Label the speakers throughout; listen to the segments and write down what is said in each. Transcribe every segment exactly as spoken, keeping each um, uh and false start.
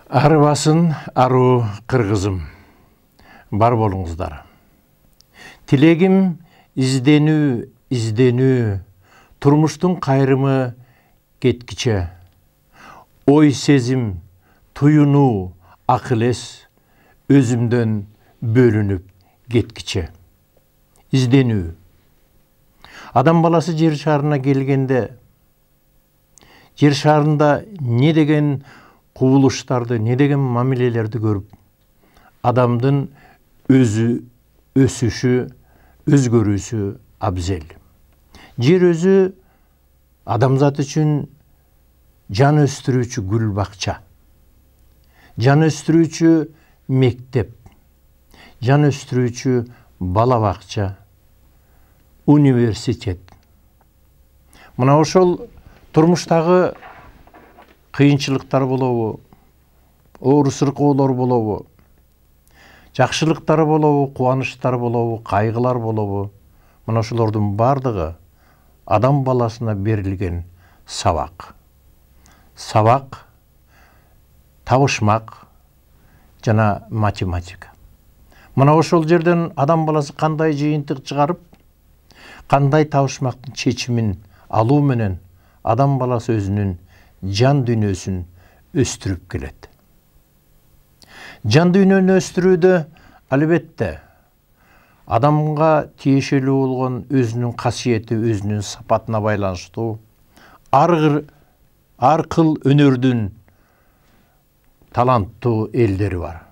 Speaker 1: Арыбасын аруу кыргызым, бар болуңуздар. Тилегим изденүү, изденүү, турмуштун кайрымы кеткиче. Ой сезим, туюнуу, акыл эс, өзүмдөн бөлүнүп кеткиче. Изденүү. Адам баласы жер шарына келгенде, жер шарында не деген кубулуштарды, не деген мамилелерди көрүп, адамдын өзү өсүшү, өзгөрүүсү абзел. Жер өзү адамзат үчүн жан өстүрүүчү гүл бакча, жан өстүрүүчү мектеп, жан өстүрүүчү бала бакча, университет. Мына ошол турмуштагы кыйынчылыктар болобу, оор сыркоолор болобу, жакшылыктар болобу, кубанычтар болобу, кайгылар болобу, мына ошолордун бардыгы адам баласына берилген сабак. Сабак, табышмак жана математика. Мына ошол жерден адам баласы кандай жыйынтык чыгарып, кандай табышмактын чечимин алуу менен адам баласы өзүнүн жан дүйнөсүн өстүрүп келет. Жан дүйнөнү өстүрүүдө албетте адамга тиешелүү болгон өзүнүн касиети, өзүнүн сапатына байланыштуу ар ар кыл өнөрдүн таланттуу элдери бар.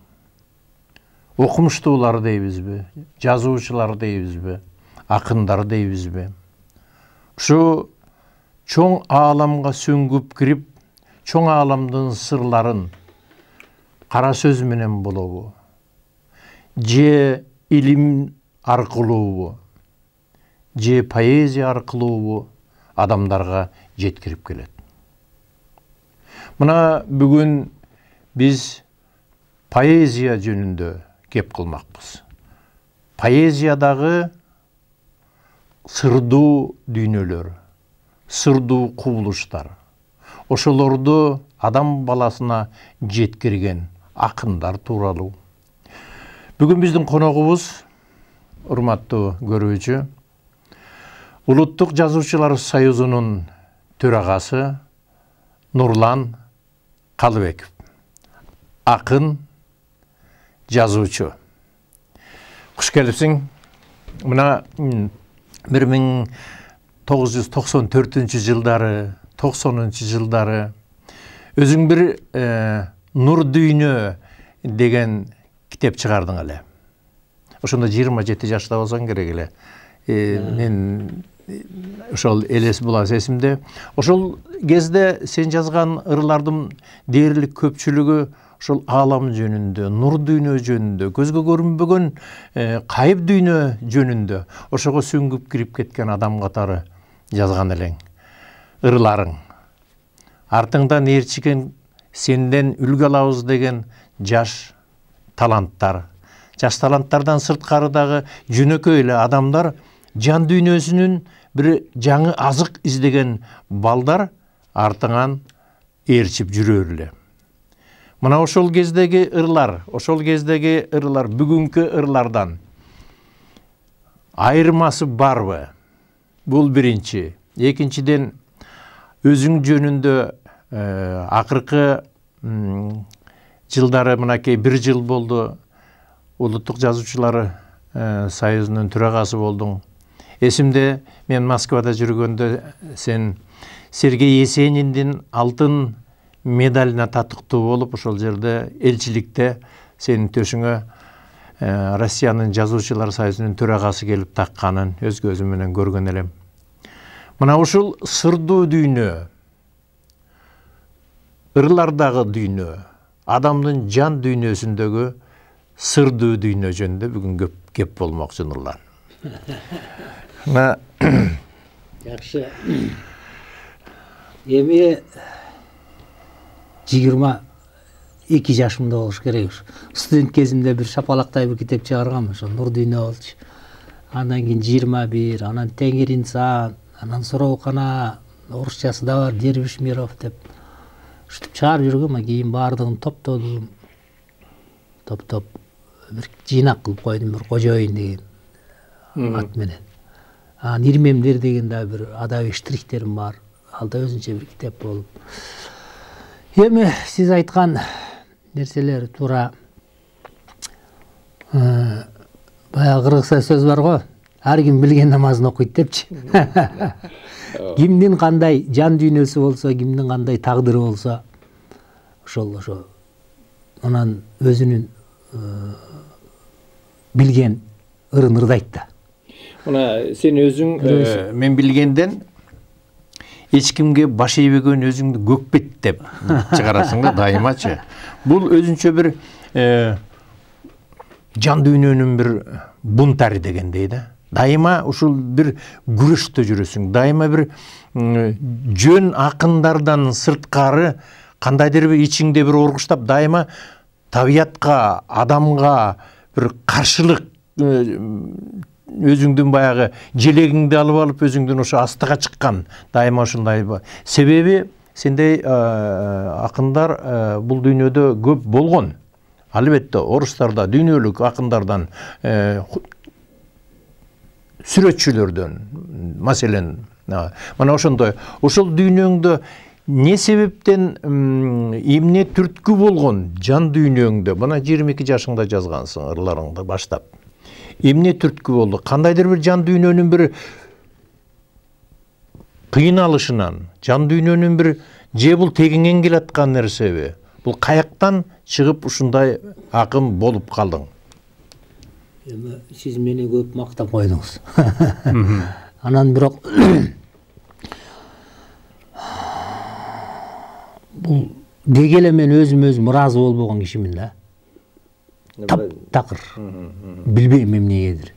Speaker 1: Окумуштуулар дейбизби, жазуучулар дейбизби, акындар дейбизби. Ушу чоң ааламга сөңгүп кирип, чоң ааламдын сырларын кара сөз менен болобу, же илим аркылуубу, же поэзия аркылуубу адамдарга жеткирип келет. Мына бүгүн биз поэзия жөнүндө кеп кылмакпыз. Поэзиядагы сырдуу дүйнөлөр, сырдуу кубулуштар, ошолорду адам баласына жеткирген акындар тууралуу. Бүгүн биздин коногубуз, урматтуу көрүүчү, Улуттук Жазуучулар союзунун төрагасы Нурлан Калыбеков. Акын, жазуучу. Куш келипсиң. Мына бир миң тогуз жүз токсон төртүнчү жылдары, токсонунчу жылдары өзүң бир Нур дүйнө деген китеп чыгардың эле. Ошондо жыйырма жети жашта болсоң керек эле. Мен ошол элес булас эсимде. Ошол кезде сен жазган ырлардын дээрлик көпчүлүгү ошол аалам жөнүндө, нур дүйнө жөнүндө, көзгө көрүнбөгөн кайып дүйнө жөнүндө ошого сүңгүп кирип кеткен адам катары жазган элең. Ырларың. Артыңдан ээрчиген сенден үлгү алабыз деген жаш таланттар. Жаш таланттардан сырткарыдагы жөнөкөй эле адамдар, жан дүйнөсүнүн бир жаңы азык издеген балдар артыңан ээрчип жүрөр эле. Мына ошол кездеги ырлар, ошол кездеги ырлар бүгүнкү ырлардан айырмасы барбы? Бул биринчи. Экинчиден, өзүң жөнүндө акыркы жылдары мынакей бир жыл болду Улуттук Жазуучулар союзунун төрагасы болдуң. Эсимде, мен Москвада жүргөндө сен Сергей Есениндин алтын медалына татыктуу болуп, ошол жерде элчиликте сенин төшүңө Россиянын Жазуучулар союзунун төрагасы келип такканын өз көзүм менен көргөн элем. Мына ушул сырдуу дүйнө, ырлардагы дүйнө, адамдын жан дүйнөсүндөгү сырдуу дүйнө жөнүндө бүгүн көп кеп болмокчу Нурлан.
Speaker 2: Жакшы. Эми жыйырма эки жашымда болуш керек. Студент кезимде бир шапалактай бир китеп чыгаргам, ошо Нур дүйнө болчу. Андан кийин жыйырма бир, анан Теңир инсан, анан Сороокана орусчасы да бар, Дербиш Миров деп. ушинтип чыгарып жүргөм, кийин баардыгын топтодум. Топтоп бир жыйнак кылып койдум, бир Кожоюн деген ат менен. Анан Ирмемдер деген да бир адабий штрихтерим бар. Ал да өзүнчө бир китеп болуп. Эми сиз айткан нерселер туура. Баягы кыргызча сөз бар го. Ар ким билген намазын окуйт депчи. Кимдин кандай жан дүйнөсү болсо, кимдин кандай тагдыры болсо, ошол ошо анан өзүнүн билген ырын ырдайт да.
Speaker 1: Мына сен өзүң мен билгенден эч кимге баш ийбеген өзүңдү көкпет деп чыгарасың да дайымачы. Бул өзүнчө бир жан дүйнөнүн бир бунтары дегендей да. Дайыма ушул бир күрөштө жүрөсүң. Дайыма бир жөн акындардан сырткары кандайдыр бир ичиңде бир оргуштап, дайыма табиятка, адамга бир каршылык өзүңдүн баягы желегиңди алып алып өзүңдүн ошо астыга чыккан дайыма ушундай. Себеби сендей акындар бул дүйнөдө көп болгон. Албетте орустарда дүйнөлүк акындардан, сүрөтчүлөрдөн, маселен, мына ошондой. Ошол дүйнөңдө не себептен эмне түрткү болгон жан дүйнөңдө, мына жыйырма эки жашыңда жазгансың ырларыңды баштап. Эмне түрткү болду? Кандайдыр бир жан дүйнөнүн бир кыйналышынан, жан дүйнөнүн бир же бул тегиңен келаткан нерсеби? Бул каяктан чыгып ушундай акын болуп калдың?
Speaker 2: Эми сиз мени көп мактап койдуңуз. Анан бирок бул деги эле мен өзүм өзүм ыраазы болбогон кишимин да. Таптакыр. Билбейм эмнегедир.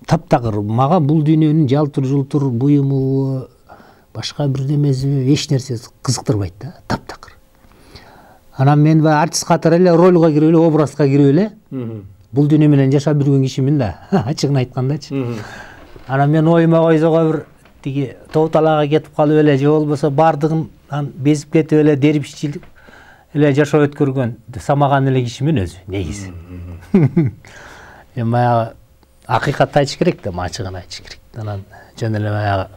Speaker 2: Таптакыр. Мага бул дүйнөнүн жалтыр жултур буюму, башка бирдемеси, эч нерсеси кызыктырбайт да. Таптакыр. Анан мен баягы артист катары эле ролго кирип эле, образга кирип эле бул дүйнө менен жашап жүргөн кишимин да, ачыгын айткандачы. Анан мен оюма койсого бир тиги тоо талаага кетип калып эле, же болбосо баардыгын безип кетип эле дербишчилик эле жашоо өткөргөн, самаган эле кишимин өзү негизи. Эми баягы акыйкатты айтыш керек да, ачыгын айтыш керек. Анан жөн эле баягы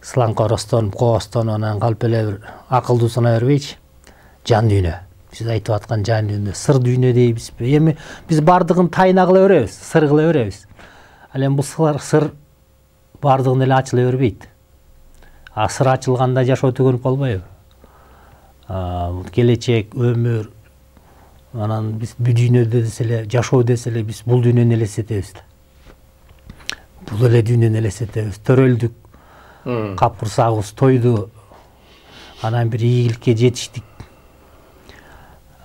Speaker 2: сылаңкоростон, коостон анан калып эле бир акылдуу санай бербейчи. Жан дүйнө. Сиз айтып аткан жан дүйнө, сыр дүйнө дейбизби? Эми биз баардыгын тайына кыла беребиз, сыр кыла беребиз. Ал эми бул сыр баардыгын эле ачыла бербейт. А сыр ачылганда жашоо төгөнүп калбайбы? Келечек, өмүр, анан биз бул дүйнөдө десе эле, жашоо десе эле биз бул дүйнөнү элестетебиз да. Бул эле дүйнөнү элестетебиз. Төрөлдүк, капкырсагыбыз тойду, анан бир ийгиликке жетиштик.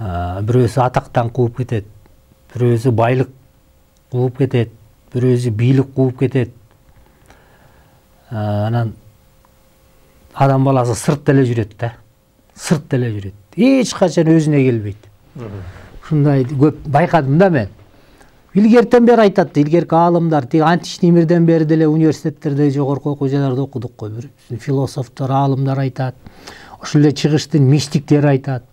Speaker 2: Бирөөсү атактан кууп кетет, бирөөсү байлык кууп кетет, бирөөсү бийлик кууп кетет. Анан адам баласы сырт эле жүрөт да. Сырт эле жүрөт. Эч качан өзүнө келбейт. Ушундай көп байкадым да мен. Илгертен бери айтат, илгерки аалымдар, тиги античный мирден бери деле университеттерде, жогорку окуу жайларда окудук го. Бир философтор, аалымдар айтат. Ошол эле чыгыштын мистиктери айтат.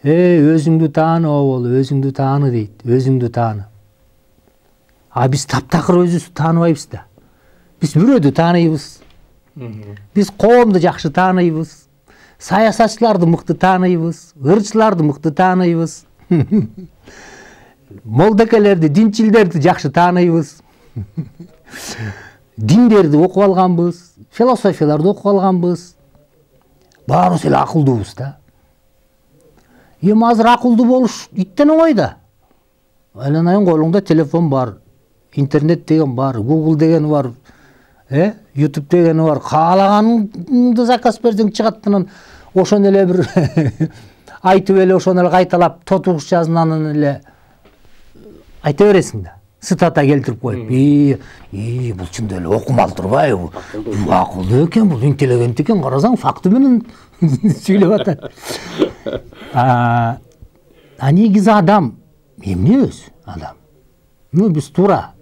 Speaker 2: Э, өзүңдү тааны бол, өзүңдү тааны дейт, өзүңдү тааны. А биз таптакыр өзүбүздү тааныбайбыз да. Биз бирөөдү тааныйбыз. Биз коомду жакшы тааныйбыз. Саясатчыларды мыкты тааныйбыз, ырчыларды мыкты тааныйбыз. Молдекелерди, динчилдерди жакшы тааныйбыз. Диндерди окуп алганбыз, философияларды окуп алганбыз. Баарыбыз эле акылдуубуз да. Эми азыр акылдуу болуш иттен оңой да. Айланайын колуңда телефон бар, интернет деген бар, Google деген бар, э, YouTube деген бар. Каалаганыңды заказ берсең чыгат, анан ошону эле бир айтып эле ошону эле кайталап тотугуш жазып анан эле айта бересиң да. Цитата келтирип коюп, "И, и, бул чындап эле окумал турбайбы? Акылдуу экен, бул интеллигент экен, карасаң факты менен сүйлөп атат." А негизи адам эмне өзү адам? Ну биз туура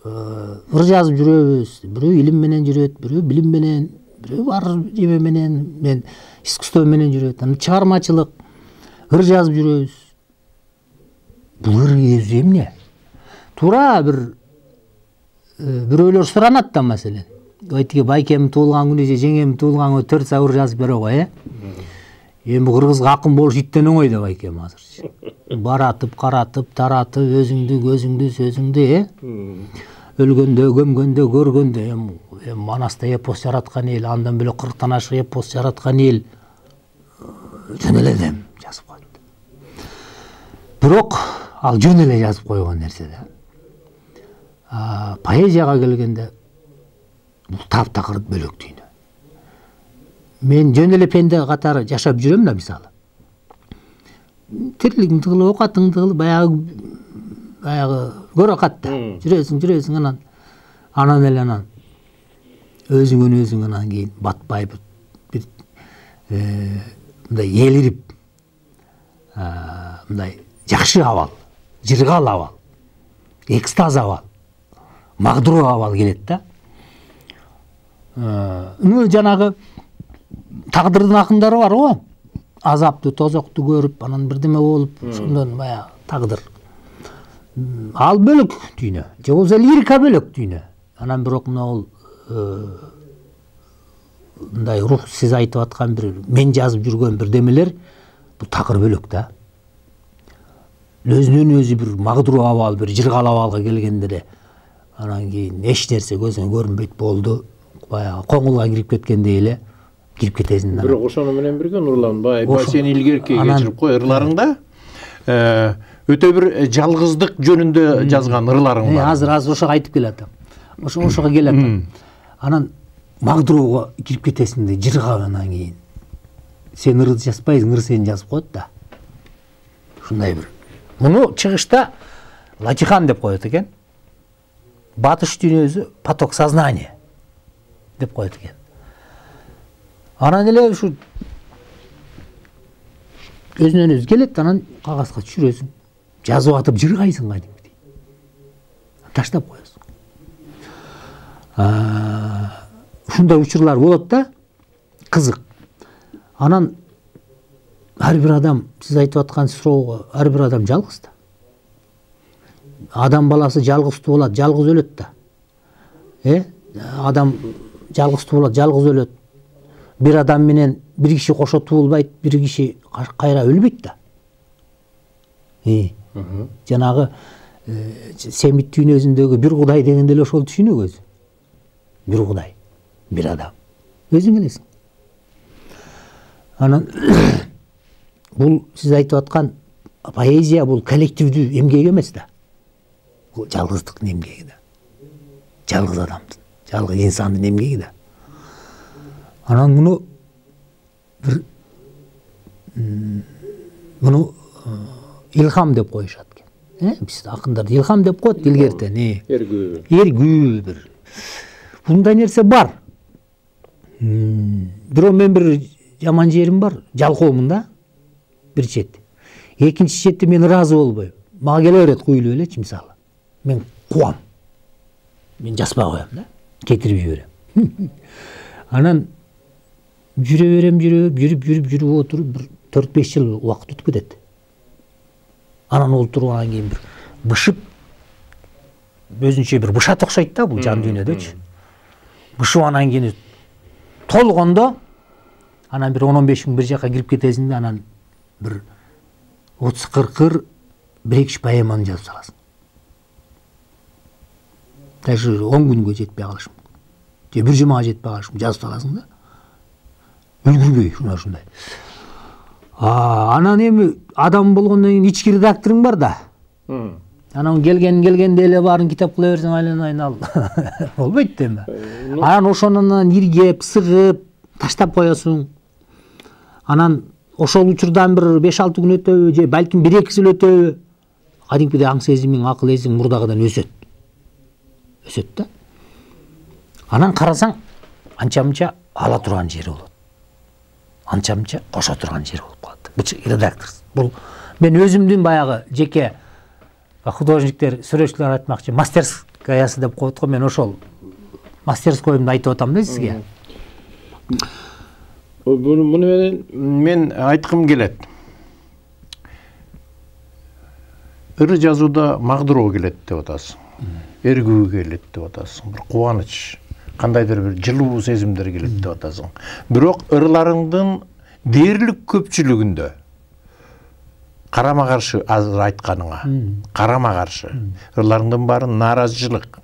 Speaker 2: ыр жазып жүрөбүз, бирөө илим менен жүрөт, бирөө билим менен, бирөө бар эме менен, мен искусство менен жүрөт, анан чыгармачылык, ыр жазып жүрөбүз. Бул ыр өзү эмне? Туура бир бирөөлөр суранат да маселен. Айтыгы байкем туулган күнү же жеңем туулган күнү төрт сабыр жазып бере кой, э? Эми кыргызга акын болуш иттен оңой деп байкем азыр. Баратып, каратып, таратып, өзүңдү, көзүңдү, сөзүңдү, э? Өлгөндө, көмгөндө, көргөндө, эми Манаста эпос жараткан эл, андан бөлөк кырктан ашык эпос жараткан эл жөн эле дем жазып койду. Бирок ал жөн эле жазып койгон нерсе да. Поэзияга келгенде бул таптакыр бөлөк дүйнө. Мен жөн эле пенде катары жашап жүрөм да, мисалы. Тирлигиң тыгылып, окатың тыгылып, баягы баягы көрө катта. Жүрөсүң, жүрөсүң анан анан эле анан өзүңөн өзүң анан кийин батпай бир мындай элирип, мындай жакшы абал, жыргал абал, экстаз абал, магдуруу абал келет да. Ну жанагы тагдырдын акындары бар го. Азаптуу, тозокту көрүп, анан бирдеме болуп, ошондон баягы тагдыр. Ал бөлөк дүйнө. Же болбосо лирика бөлөк дүйнө. Анан бирок мына ол мындай рух, сиз айтып аткан бир мен жазып жүргөн бирдемелер бул такыр бөлөк да. Өзүнөн өзү бир магдуруу абал, бир жыргал абалга келгенде эле анан кийин эч нерсе көзүңө көрүнбөйт болду. Баягы коңулга кирип кеткендей эле кирип кетесиң.
Speaker 1: Бирок ошону менен бирге Нурлан бай, сен илгерки кечирип кой, ырларыңда өтө бир жалгыздык жөнүндө жазган ырларың бар.
Speaker 2: Азыр азыр ошого айтып келатам. Ошо ошого келатам. Анан магдурууга кирип кетесиң да, жыргап анан кийин. Сен ырды жазбайсың, ыр сени жазып коет да. Ушундай бир. Муну чыгышта Латихан деп коет экен. Батыш дүйнөсү поток сознания деп коет экен. Анан эле ушу өзүнөн өзү келет, анан кагазга түшүрөсүң. Жазып атып жыргайсың кадимгидей. Таштап коесуң. Ушундай учурлар болот да, кызык. Анан ар бир адам, сиз айтып аткан суроого, ар бир адам жалгыз да. Адам баласы жалгыздуу болот, жалгыз өлөт да. Э? Адам жалгыздуу болот, жалгыз өлөт. Бир адам менен бир киши кошо туулбайт, бир киши кайра өлбөйт да. Э. Жанагы семит дүйнөсүндөгү бир кудай дегенде эле ошол түшүнүк өзү. Бир кудай, бир адам. Өзүң элесиң. Анан бул сиз айтып аткан поэзия бул коллективдүү эмгек эмес да. Бул жалгыздыктын эмгеги да. Жалгыз адамдын, жалгыз инсандын эмгеги да. Анан муну бир муну илхам деп коюшат экен. Э, биз акындар илхам деп коет илгертен, э.
Speaker 1: Эргүү.
Speaker 2: Эргүү бир. Мындай нерсе бар. Бирок мен бир жаман жерим бар, жалкоомун да. Бир чет. Экинчи четте мен ыраазы болбойм. Мага келе берет куйлуп элечи мисалы. Мен кубам. Мен жазбай коем да. Кетирип жиберем. Анан жүрө берем, жүрүп, жүрүп, жүрүп, жүрүп отуруп бир төрт беш жыл убакыт өтүп кетет. Анан олтургандан кийин бир бышып, өзүнчө бир бышат окшойт да бул жан дүйнөдөчү. Бышып анан кийин толгондо анан бир он он беш күн бир жака кирип кетесиң да, анан бир отуз кырк ыр бир эки үч поэманы жазып саласың. Даже он күнгө жетпей калышы мүмкүн. Же бир жумага жетпей калышы мүмкүн, жазып саласың да. Үлгүрбөй ушундай ушундай. Анан эми адам болгондон кийин ички редакторуң бар да. Анан келген келгенде эле баарын китап кыла берсең айланайын ал. Болбойт да эми. Анан ошонун иргеп, сыгып, таштап коесуң. Анан ошол учурдан бир беш алты күн өтөбү, же балким бир эки жыл өтөбү, кадимкидей аң сезимиң, акыл эсиң мурдагыдан өсөт. Өсөт да. Анан карасаң анча-мынча ала турган жери болот. Анча-мынча кошо турган жери болуп калат. Бул редактор. Бул мен өзүмдүн баягы жеке художниктер, сүрөтчүлөр айтмакчы, мастерскаясы деп коет го, мен ошол мастерскойумду айтып атам да сизге.
Speaker 1: Муну менен мен айткым келет. Ыры жазууда магдыроо келет деп атасың. Эргүү келет деп атасың. Бир кубаныч, кандайдыр бир жылуу сезимдер келет деп атасың. Бирок ырларыңдын дээрлик көпчүлүгүндө карама каршы азыр айтканыңа, карама каршы ырларыңдын баары нааразычылык.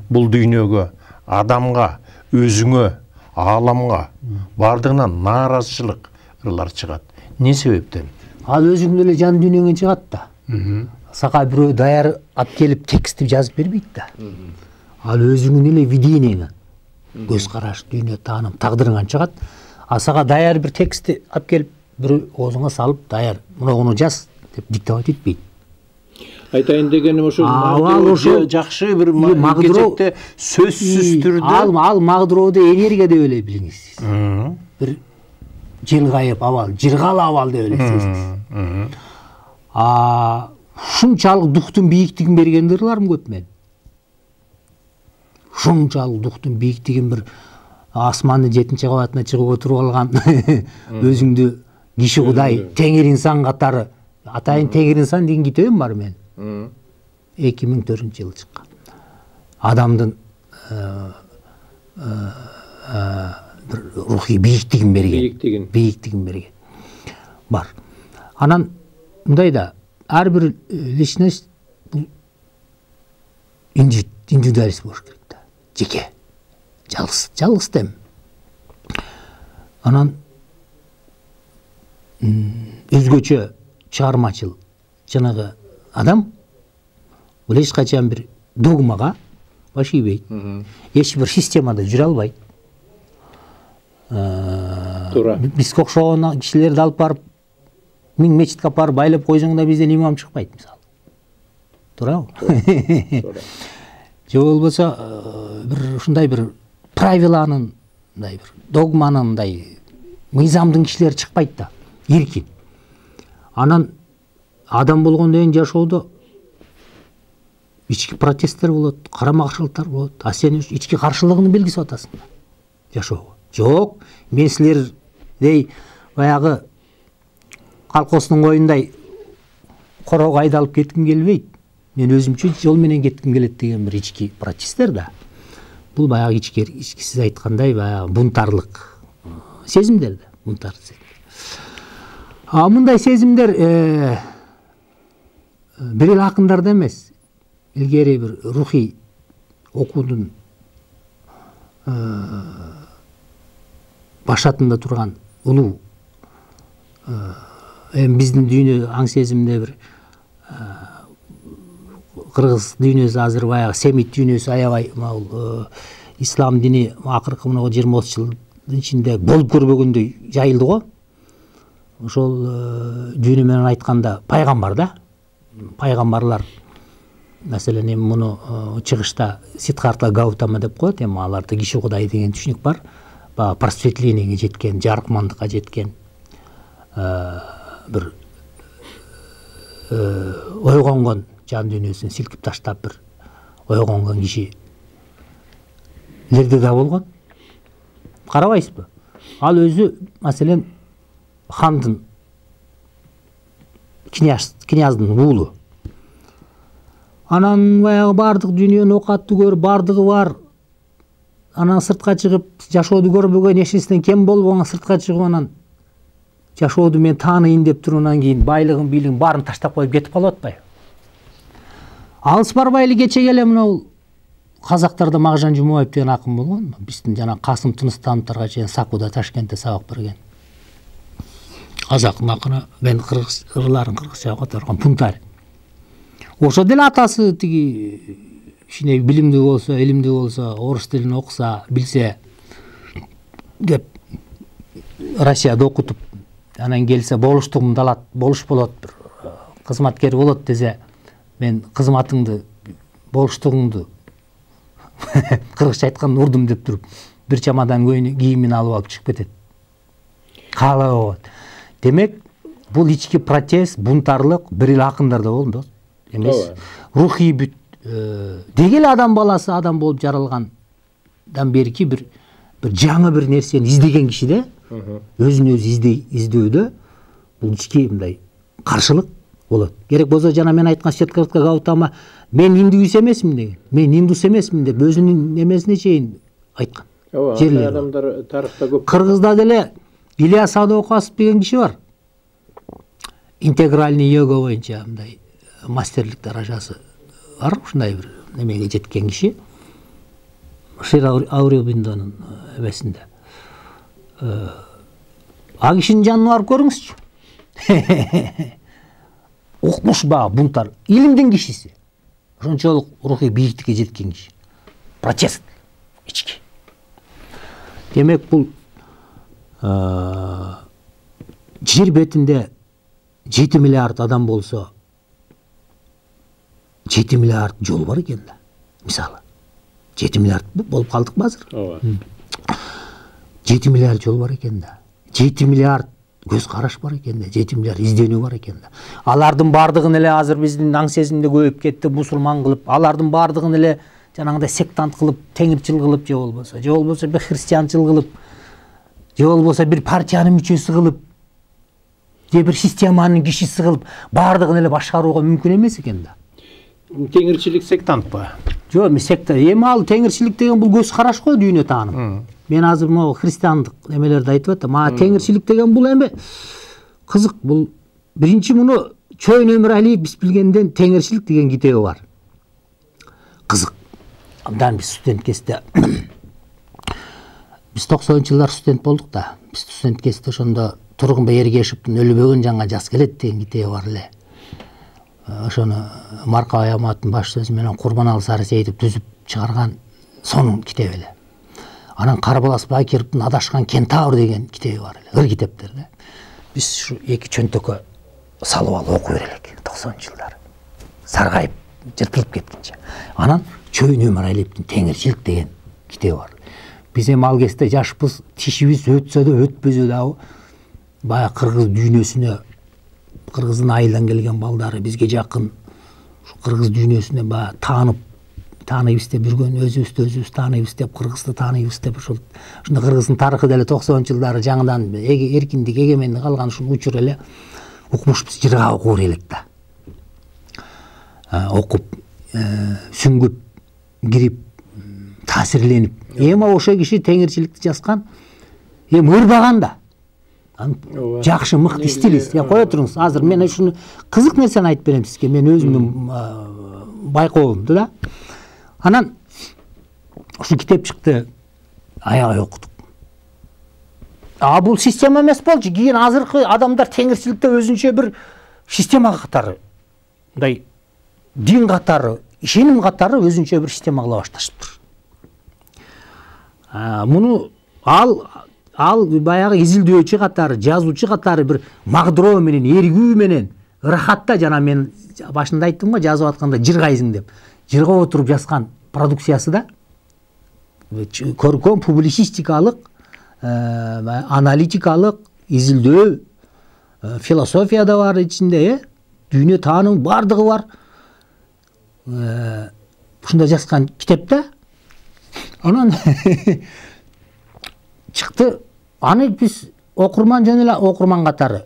Speaker 1: Бул дүйнөгө, адамга, өзүңө, ааламга бардыгынан нааразычылык ырлар чыгат. Не себептен?
Speaker 2: Ал өзүң эле жан дүйнөңөн чыгат да. Сага бирөө даяр алып келип текстти жазып бербейт да. Ал өзүңүн эле видениеңе, көз караш, дүйнө тааным, тагдырыңан чыгат. А сага даяр бир текстти алып келип бирөө оозуңа салып, даяр муну жаз деп диктовать этпейт.
Speaker 1: Айтайын дегеним ошо жакшы бир кечекте сөзсүз түрдө
Speaker 2: ал ал магдырооду энергия деп эле билиңиз. Бир жылгайып абал, жыргал абал деп эле сезиңиз. А ушунчалык дуктун бийиктигин берген ырларым көп мен. Ушунчалык дуктун бийиктигин бир асмандын жетинчи кабатына чыгып отуруп алган өзүңдү киши кудай, теңир инсан катары, атайын теңир инсан деген китебим бар мен. эки миң төртүнчү жылы чыккан. Адамдын бир рухий бийиктигин берген. Бийиктигин берген. Бар. Анан мындай да, ар бир личность бул индивидуалист болуш керек да. Жеке. Жалгыз, жалгыз дем. Анан өзгөчө чыгармачыл жанагы адам бул эч качан бир догмага баш ийбейт. Эч бир системада жүрө албайт.
Speaker 1: Туура.
Speaker 2: Бизге окшогон кишилерди алып барып миң мечитке алып барып байлап койсоң да бизден имам чыкпайт мисалы. Туурабы? Туура. Же болбосо бир ушундай бир правиланын, мындай бир догманын, мындай мыйзамдын кишилери чыкпайт да. Эркин. Анан адам болгондон кийин жашоодо ички протесттер болот, карама каршылыктар болот. А сен ички каршылыгыңды белгисип атасың да жашоого. Жок, мен силердей баягы колхоздун коюндай корого айдалып кетким келбейт. Мен өзүмчө жол менен кетким келет деген бир ички протесттер да. Бул баягы ички ичкисиз айткандай баягы бунтарлык сезимдер да, бунтарлык сезим. А мындай сезимдер бир эле акындарда эмес, илгери бир рухий окуунун башатында турган улуу эми биздин дүйнө аң сезимде бир кыргыз дүйнөсү азыр баягы семит дүйнөсү аябай могул ислам дини акыркы мына жыйырма отуз жылдын ичинде болуп көрбөгөндөй жайылды го. Ошол дүйнө менен айтканда пайгамбар да. Пайгамбарлар маселен эми муну чыгышта Сиддхартха Гаутама деп коет, эми аларда киши кудай деген түшүнүк бар. Баягы просветлениеге жеткен, жарыкмандыкка жеткен бир ойгонгон, жан дүйнөсүн силкип таштап бир ойгонгон кишилерде да болгон. Карабайсызбы? Ал өзү маселен хандын, князьдын уулу. Анан баягы бардык дүйнөнү окатты көрүп, бардыгы бар. Анан сыртка чыгып, жашоодо көрбөгөн, эчесинен кем болбогон сыртка чыгып анан жашоодо мен тааныйын деп тургандан кийин байлыгын, бийлигин баарын таштап коюп кетип калып атпайбы? Алыс барбай эле кечеге эле мына казактарда Мағжан Жумабаев деген акын болгон. Биздин жана Касым Тыныстановторго чейин Сакуда, Ташкентте сабак берген. Казактын акыны, мен кыргыз ырларын кыргызчага которгон Пунтарь. Ошо деле атасы тиги кичине билимдүү болсо, илимдүү болсо, орус тилин окуса, билсе деп Россияда окутуп, анан келсе болуштугумду алат, болуш болот, бир кызматкер болот десе, мен кызматыңды, болуштугуңду кыргызча айтканда урдум деп туруп, бир чамадан кийимин алып алып чыгып кетет. Каалай болот. Демек, бул ички протест, бунтарлык бир эле акындарда болду эмес. Рухий бүт деги эле адам баласы адам болуп жаралгандан берки бир бир жаңы бир нерсени издеген киши да өзүн өзү издөөдө бул ички мындай каршылык болот. Керек болсо жана мен айткан Сиддхартха Гаутама мен индуис эмесмин деген, мен индус эмесмин деп өзүнүн немесине чейин айткан.
Speaker 1: Ооба, адамдар тарыхта көп.
Speaker 2: Кыргызда деле Ильяс Садыкасов деген киши бар. Интегральный йога боюнча мындай мастерлик даражасы бар, ушундай бир немеге жеткен киши. Шир Ауребиндонун эмесинде. А кишинин жанына барып көрүңүзчү. Укмуш баа бунтар, илимдин кишиси. Ошончолук рухий бийиктикке жеткен киши. Протест ички. Демек бул жер бетинде жети миллиард адам болсо жети миллиард жол бар экен да. Мисалы жети миллиард болуп калдыкпы азыр?
Speaker 1: Ооба.
Speaker 2: жети миллиард жол бар экен да. жети миллиард көз караш бар экен да. жети миллиард изденүү бар экен да. Алардын бардыгын эле азыр биздин аң сезимде көбөйүп кетти, мусулман кылып, алардын бардыгын эле жанагындай сектант кылып, теңирчил кылып, же болбосо, же болбосо бир христианчыл кылып, же болбосо бир партиянын мүчөсү кылып, же бир системанын кишиси кылып, бардыгын эле башкарууга мүмкүн эмес экен да.
Speaker 1: Теңирчилик сектантпы?
Speaker 2: Жок, мен секта. Эми ал теңирчилик деген бул көз караш го, дүйнө тааным. Мен азыр могу христиандык немелерди айтып атам. А теңирчилик деген бул эми кызык. Бул биринчи муну Чойн Өмүралиев биз билгенден теңирчилик деген китеби бар. Кызык. Абдан биз студент кезде биз токсонунчу жылдар студент болдук да. Биз студент кезде ошондо Тургунбай Эргешевдин Өлүбөгөн жаңа жаз келет деген китеби бар эле. Ошону Маркабай Аматтын баш сөзү менен Курманалы Сарысейитов түзүп чыгарган сонун китеп эле. Анан Карбалас Бакировдун Адашкан Кентавр деген китеби бар эле. Ыр китептер да. Биз ушу эки чөнтөккө салып алып окуй берелик токсонунчу жылдары. Саргайып, жыртылып кеткенче. Анан Чойн Өмүралиевдин Теңирчилик деген китеби бар. Биз эми ал кезде жашпыз, тишибиз өтсө да өтпөсө дагы баягы кыргыз дүйнөсүнө, кыргыздын айылдан келген балдары бизге жакын, ушу кыргыз дүйнөсүнө баягы таанып, тааныйбыз деп жүргөн, өзүбүздү өзүбүз тааныйбыз деп, кыргызды тааныйбыз деп, ошол ушунда кыргыздын тарыхы деле токсонунчу жылдары жаңыдан эркиндик, эгемендик алган ушул учур эле укмушпуз, жыргап окуп берелик да. Окуп, сүңгүп, кирип, таасирленип. Эми ошо киши теңирчиликти жазган, эми ырбаган да. Жакшы, мыкты стилист. Я кое туруңуз. Азыр мен ушуну кызык нерсени айтып берем сизге. Мен өзүмдүн байкоомду да. Анан ушу китеп чыкты, аябай окудук. А бул система эмес болчу. Кийин азыркы адамдар теңирчиликте өзүнчө бир система катары, мындай дин катары, ишеним катары өзүнчө бир система кыла башташыптыр. Муну ал ал баягы изилдөөчү катары, жазуучу катары бир магдыроо менен, эргүү менен, ырахатта, жана мен башында айттым го, жазып атканда жыргайсың деп. Жыргап отуруп жазган продукциясы да көркөм публицистикалык, аналитикалык, изилдөө, философия да бар ичинде, дүйнө тааным бардыгы бар. Ушунда жазган китепте. Анан чыкты. Аны биз окурман жөн эле окурман катары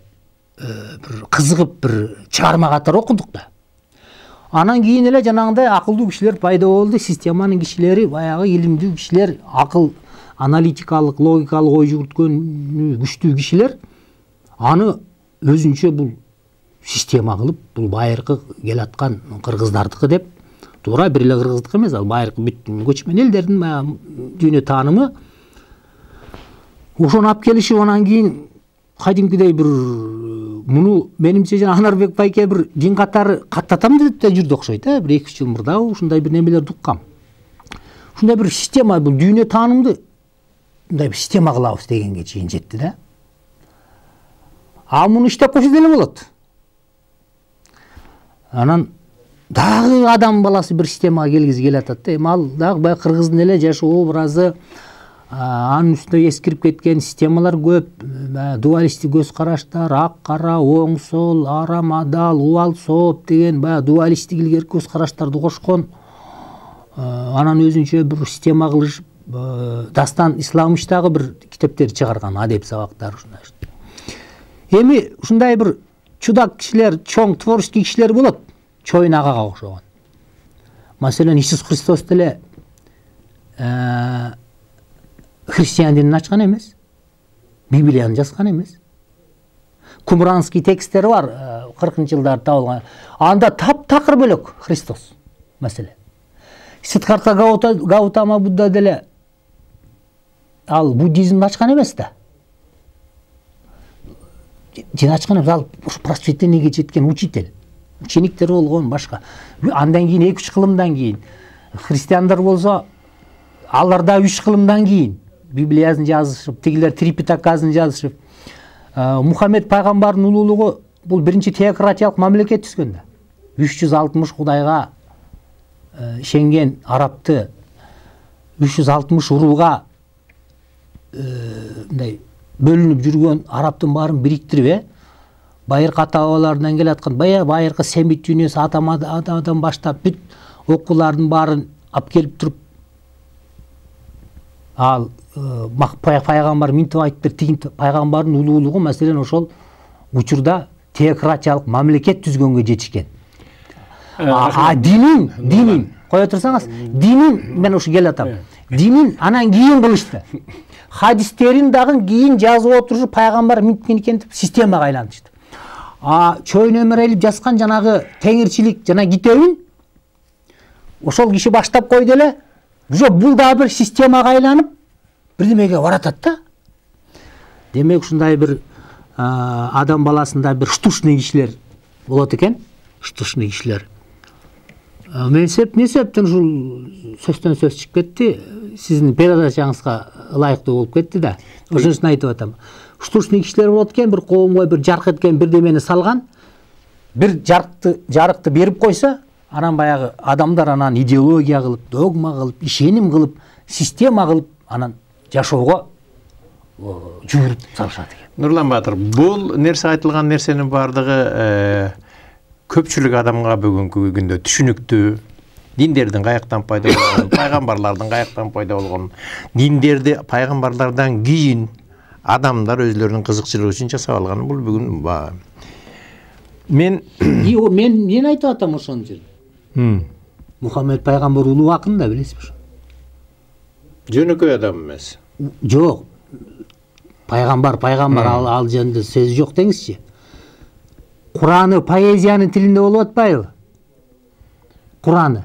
Speaker 2: бир кызыгып бир чыгарма катары окудук да. Анан кийин эле жанагындай акылдуу кишилер пайда болду, системанын кишилери, баягы илимдүү кишилер, акыл, аналитикалык, логикалык ой жүгүрткөн күчтүү кишилер аны өзүнчө бул система кылып, бул байыркы келаткан кыргыздардыкы деп, туура бир эле кыргыздык эмес, ал байыркы бүт көчмөн элдердин баягы дүйнө таанымы. Ошону алып келишип, анан кийин кадимкидей бир муну менимче жана Анарбек байке бир дин катары каттатам деп да жүрдү окшойт, э, бир эки үч жыл мурда ушундай бир немелерди уккам. Ушундай бир система, бул дүйнө таанымды мындай бир система кылабыз дегенге чейин жетти да. А муну иштеп койсо деле болот. Анан дагы адам баласы бир системага келгизи келатат да. Эми ал дагы баягы кыргыздын эле жашоо образы, анын үстүнө эскирип кеткен системалар көп, дуалисттик көз караштар, ак кара, оң сол, арам адал, убал сооп деген баягы дуалисттик илгерки көз караштарды кошкон, анан өзүнчө бир система кылышып, Дастан Исламович дагы бир китептер чыгарган, адеп сабактары ушундай. Эми ушундай бир чудак кишилер, чоң творческий кишилер болот, Чоюн агага окшогон. Маселен Иисус Христос деле христиан динин ачкан эмес, Библияны жазган эмес. Кумранский тексттери бар, кыркынчы жылдары табылган. Анда таптакыр бөлөк Христос маселе. Сиддхартха Гаутама Будда деле ал буддизмди ачкан эмес да. Дин ачкан эмес, ал просветлениеге жеткен учитель. Учениктер болгон башка. Андан кийин эки үч кылымдан кийин христиандар болсо алар да үч кылымдан кийин Библиясын жазышып, тигилер Трипитакасын жазышып, Мухаммед пайгамбардын улуулугу бул биринчи теократиялык мамлекет түзгөн да. үч жүз алтымыш Кудайга ишенген арабты үч жүз алтымыш урууга мындай бөлүнүп жүргөн арабтын баарын бириктирип, байыркы ата-бабаларынан келаткан бая байыркы семит дүйнөсү атамадан баштап бүт окуулардын баарын алып келип туруп, ал пайгамбар минтип айтыптыр, тигин пайгамбардын улуулугу маселен ошол учурда теократиялык мамлекет түзгөнгө жетишкен. А динин, динин, кое турсаңыз, динин мен ушу келатам. Динин анан кийин кылышты. Хадистерин дагы кийин жазып отуруп пайгамбар минткен экен деп системага айлантышты. А Чоюн Эмерелиев жазган жанагы теңирчилик жана китебин ошол киши баштап койду эле. Уже бул дагы бир системага айланып бирдемеге баратат да. Демек ушундай бир адам баласында бир штучный кишилер болот экен, штучный кишилер. Мен сеп не себептен ушул сөздөн сөз чыгып кетти, сиздин передачаңызга ылайыктуу болуп кетти да. Ошону айтып атам. Штучный кишилер болот экен, бир коомго бир жарык эткен бирдемени салган, бир жарыкты жарыкты берип койсо, анан баягы адамдар анан идеология кылып, догма кылып, ишеним кылып, система кылып анан жашоого журуп салышат экен.
Speaker 1: Нурлан Баатыр, бул нерсе айтылган нерсенин баардыгы көпчүлүк адамга бүгүнкү күндө түшүнүктүү. Диндердин каяктан пайда болгонун, пайгамбарлардын каяктан пайда болгонун, диндерди пайгамбарлардан кийин адамдар өзлөрүнүн кызыкчылыгы үчүн жасап алган. Бул бүгүн мен
Speaker 2: мен мен айтып атам ошон жерде. Мухаммед пайгамбар улуу акын да, билесизби ошо?
Speaker 1: Жөнөкөй адам эмес.
Speaker 2: Жок. Пайгамбар, пайгамбар ал ал жөнүндө сөз жок деңизчи. Кураны поэзиянын тилинде болуп атпайбы? Кураны.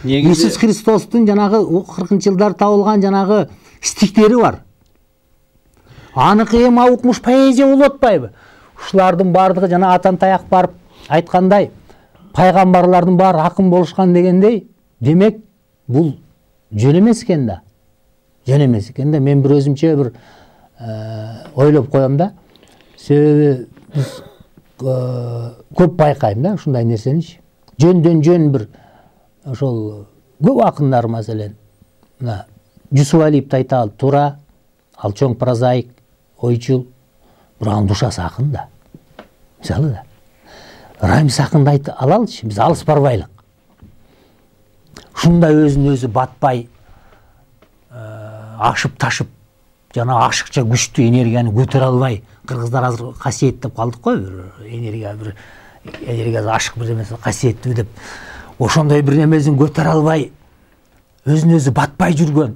Speaker 2: Иисус Христостун жанагы кыркынчы жылдар табылган жанагы стихтери бар. Аныкы эми укмуш поэзия болуп атпайбы? Ушулардын баардыгы жана атан таяк барып айткандай, пайгамбарлардын баары акын болушкан дегендей, демек бул жөн эмес экен да. Жөн эмес экен да. Мен бир өзүмчө бир ойлоп коем да. Себеби биз көп байкайм да ушундай нерсеничи. Жөндөн жөн бир ошол көп акындар маселен мына Жусуп Алиевди айта ал туура, ал чоң прозаик, ойчул, бирок анын душасы акын да. Мисалы да. Рамис акынды айта алалычы, биз алыс барбайлык. Ушундай өзүн өзү батпай, ашып ташып, жана ашыкча күчтүү энергияны көтөрө албай, кыргыздар азыр касиет деп калдык го, бир энергия бир энергиясы ашык бир эмес касиеттүү деп. Ошондой бир эмесин көтөрө албай, өзүн өзү батпай жүргөн.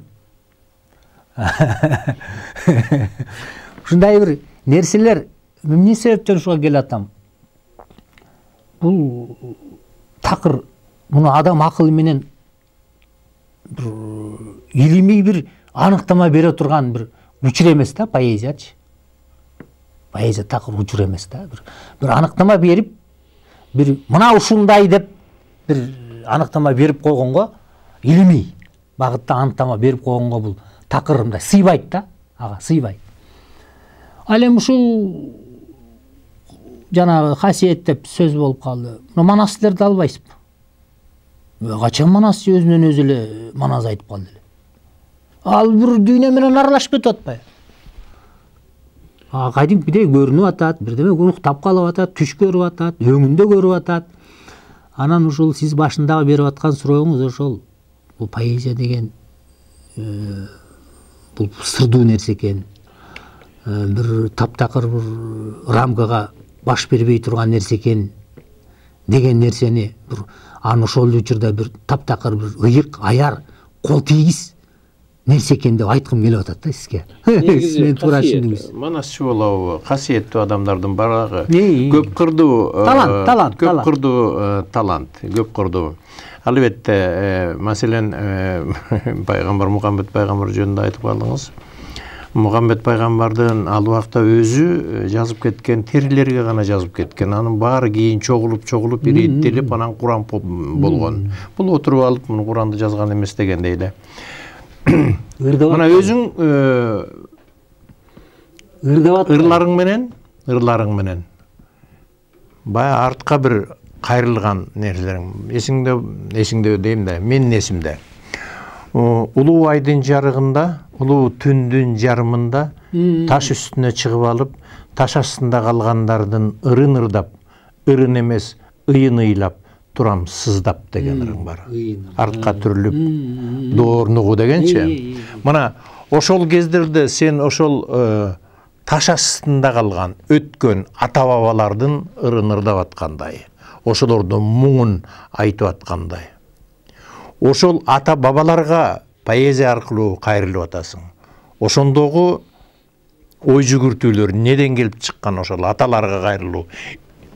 Speaker 2: Ушундай бир нерселер эмне себептен ушуга келатам? Бул такыр муну адам акылы менен бир илимий бир аныктама бере турган бир учур эмес да поэзиячы. Поэзия такыр учур эмес да. Бир бир аныктама берип, бир мына ушундай деп бир аныктама берип койгонго, илимий багытта аныктама берип койгонго бул такыр мындай сыйбайт да, ага сыйбайт. Ал эми ушул жанагы касиет деп сөз болуп калды. Мына манастырды албайсызбы? Качан манас өзүнөн өзү эле манас айтып калды эле. Ал бир дүйнө менен аралашып кетип атпайбы? А кадимкидей көрүнүп атат, бирдеме уктап калып атат, түш көрүп атат, өңүндө көрүп атат. Анан ушул сиз башындагы берип аткан сурооңуз ошол бул поэзия деген бул сырдуу нерсе экен, бир таптакыр бир рамкага баш бербей турган нерсе экен деген нерсени бир аны ошол учурда бир таптакыр бир ыйык, аяр, кол тийгиз нерсе экен деп айткым келип атат да сизге.
Speaker 1: Негизи касиет, манасчы болобу, касиеттүү адамдардын барагы көп кырдуу
Speaker 2: талант, талант,
Speaker 1: көп кырдуу талант, көп кырдуу. Албетте, маселен, пайгамбар Мухаммед пайгамбар жөнүндө айтып калдыңыз. Мухаммед пайгамбардын ал убакта өзү жазып кеткен терилерге гана жазып кеткен. Анын баары кийин чогулуп, чогулуп, ириттелип, анан Куран болгон. Бул отуруп алып, муну Куранды жазган эмес дегендей эле. Мына өзүң ырларың менен, ырларың менен бая артка бир кайрылган нерселериң. Эсиңде, эсиңде дейм да, менин эсимде. Улуу айдын жарыгында, улуу түндүн жарымында таш үстүнө чыгып алып, таш астында калгандардын ырын ырдап, ырын эмес, ыйын ыйлап турам сыздап деген ырың бар. Артка түрүлүп, доорнугу дегенчи. Мына ошол кездерде сен ошол таш астында калган өткөн ата бабалардын ырын ырдап аткандай, ошолордун муңун айтып аткандай. Ошол ата бабаларга поэзия аркылуу кайрылып атасың. Ошондогу ой жүгүртүүлөр неден келип чыккан, ошол аталарга кайрылуу,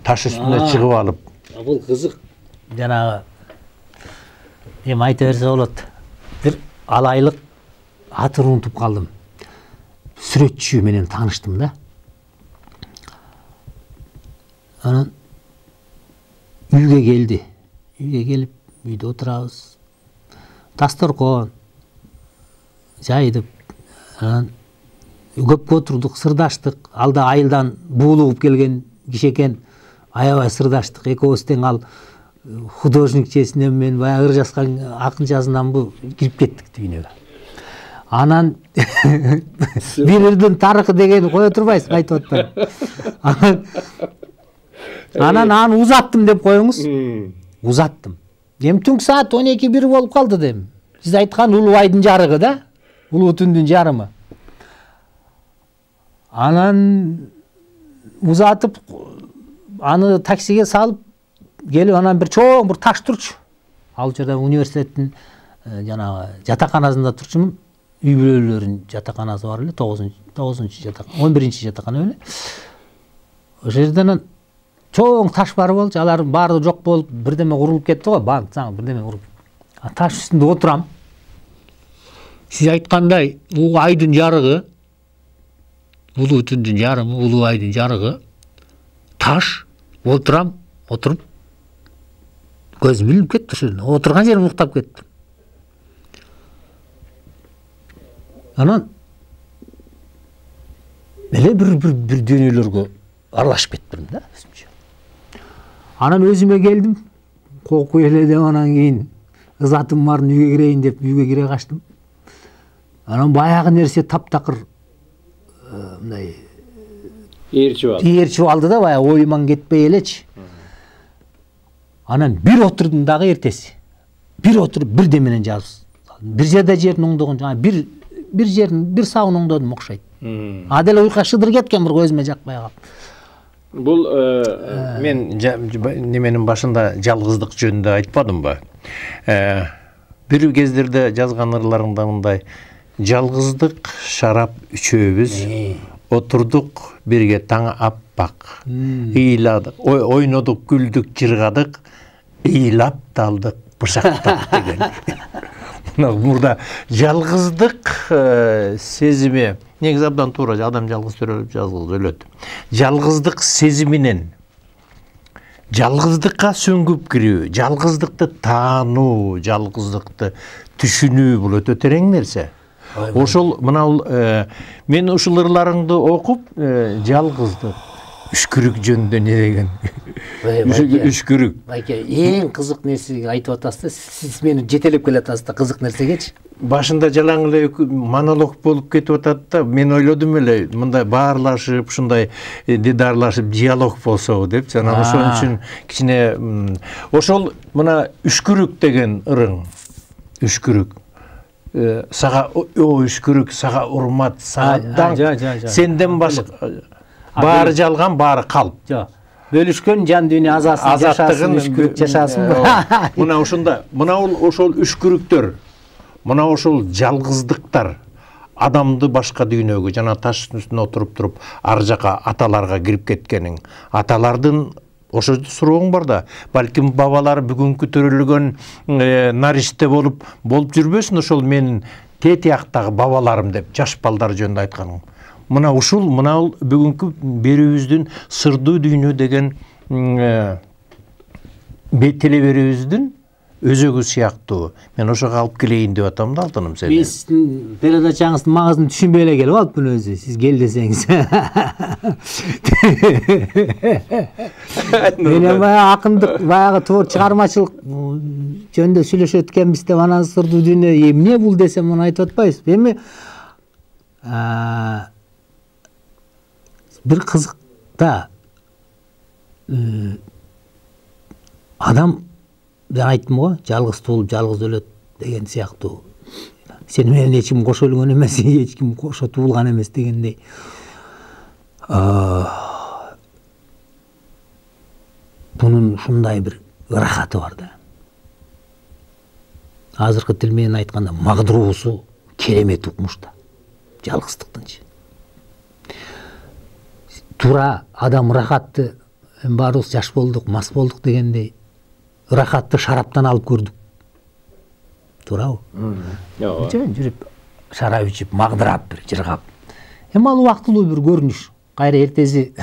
Speaker 1: таш үстүнө чыгып алып.
Speaker 2: Бул кызык. Жанагы эми айта берсе болот. Бир алайлык атын унутуп калдым. Сүрөтчү менен тааныштым да. Анан үйгө келди. Үйгө келип, үйдө отурабыз. Дасторкон жайдып, анан көпкө отурдук, сырдаштык. Алда айылдан буулугуп келген киши экен. Аябай сырдаштык. Экөөбүз тең ал художникчесинен мен баягы ыр жазган акынчасынан бу кирип кеттик дүйнөгө. Анан бир ырдын тарыхы дегени кое турбайсыз, айтып атпайм. Анан аны узаттым деп коюңуз. Узаттым. Эми түнкү саат он эки бир болуп калды дейм. Сиз айткан улуу айдын жарыгы да, улуу түндүн жарымы. Анан узатып, аны таксиге салып келип, анан бир чоң бир таш турчу. Ал жерде университеттин жанагы жатаканасында турчумун. Үй бүлөлөрүнүн жатаканасы бар эле, тогузунчу жатакана, он биринчи жатакана эле. Ошол жерден чоң таш бар болчу, алар баары жок болуп, бирдеме курулуп кетти го, банк, заң бирдеме куруп. Таш үстүндө отурам. Сиз айткандай, улуу айдын жарыгы, улуу түндүн жарымы, улуу айдын жарыгы, таш, отурам, отуруп, көзүм илип кетти ошол. Отурган жерим уктап кетти. Анан эле бир бир бир дүйнөлөргө аралашып кеттим да өзүмчө. Анан өзүмө келдим. Кокуй эле деп, анан кийин ызатым барын үйгө кирейин деп үйгө кире качтым. Анан баягы нерсе таптакыр мындай ээрчип алды. Ээрчип алды да, баягы оюман кетпей элечи. Анан бир отурдум дагы эртеси. Бир отуруп бирдеменен жазып. Бир жерде жердин оңдогон, жана бир бир жерин, бир сабын оңдодум окшойт. А деле уйкуга шыдыр кеткен, бир көзүмө жакпай калып.
Speaker 1: Бул мен неменин башында жалгыздык жөнүндө айтпадымбы? Бир кездерде жазган ырларыңда мындай: жалгыздык шарап үчөөбүз, отурдук бирге таң аппак, ыйладык, ойнодук, күлдүк, жыргадык, ыйлап талдык, бышактап деген. Мурда жалгыздык сезими, негизи абдан туура, адам жалгыз төрөлүп, жалгыз өлөт. Жалгыздык сезиминен жалгыздыкка сөңгүп кирүү, жалгыздыкты таануу, жалгыздыкты түшүнүү бул өтө терең нерсе. Ошол мына мен ушул ырларыңды окуп, жалгыздык, үшкүрүк жөнүндө не деген? Үшкүрүк.
Speaker 2: Байке, эң кызык нерсеге айтып атасыз, сиз мени жетелеп келатасыз да кызык нерсегечи.
Speaker 1: Башында жалаң эле монолог болуп кетип атат да, мен ойлодум эле, мындай баарлашып, ушундай дидарлашып диалог болсо депчи. Анан ошон үчүн кичине ошол мына үшкүрүк деген ырың. Үшкүрүк. сага өчкүрүк, сага урмат, сага даңк, сенден башка баары жалган, баары калп.
Speaker 2: Жок. Бөлүшкөн жан дүйнө азасын жашасын, үшкүрүк жашасын.
Speaker 1: Мына ушунда, мына ошол үшкүрүктөр, мына ошол жалгыздыктар адамды башка дүйнөгө, жана таштын үстүнө отуруп туруп ар жака аталарга кирип кеткениң. Аталардын ошо сурооң бар да, балким бабалар бүгүнкү төрөлгөн наристе болуп болуп жүрбөсүн, ошол менин тетияктагы бабаларым деп жаш балдар жөнүндө айтканым. Мына ушул, мына бүгүнкү берүүбүздүн сырдуу дүйнө деген телеберүүбүздүн өзөгү сыяктуу. Мен ошого алып келейин деп атам да алтыным сени.
Speaker 2: Биз передачаңыздын маңызын түшүнбөй эле келип алыппын өзү. Сиз кел десеңиз. Мен баягы акындык, баягы творчу чыгармачылык жөнүндө сүйлөшөт экенбиз деп анан сырдуу дүйнө эмне бул десем муну айтып атпайбызбы? Эми бир кызык да адам, мен айттым го, жалгыз туулуп жалгыз өлөт деген сыяктуу. Сени менен эч ким кошо өлгөн эмес, эч ким кошо туулган эмес дегендей. Бунун ушундай бир ырахаты бар да. Азыркы тил менен айтканда магдыруусу керемет укмуш да. Жалгыздыктынчы. Тура адам ырахатты, баарыбыз жаш болдук, мас болдук дегендей, ырахатты шараптан алып көрдүк. Туурабы? Жөн жүрүп, шарап ичип, магдырап, бир жыргап. Эми ал убактылуу бир көрүнүш. Кайра эртеси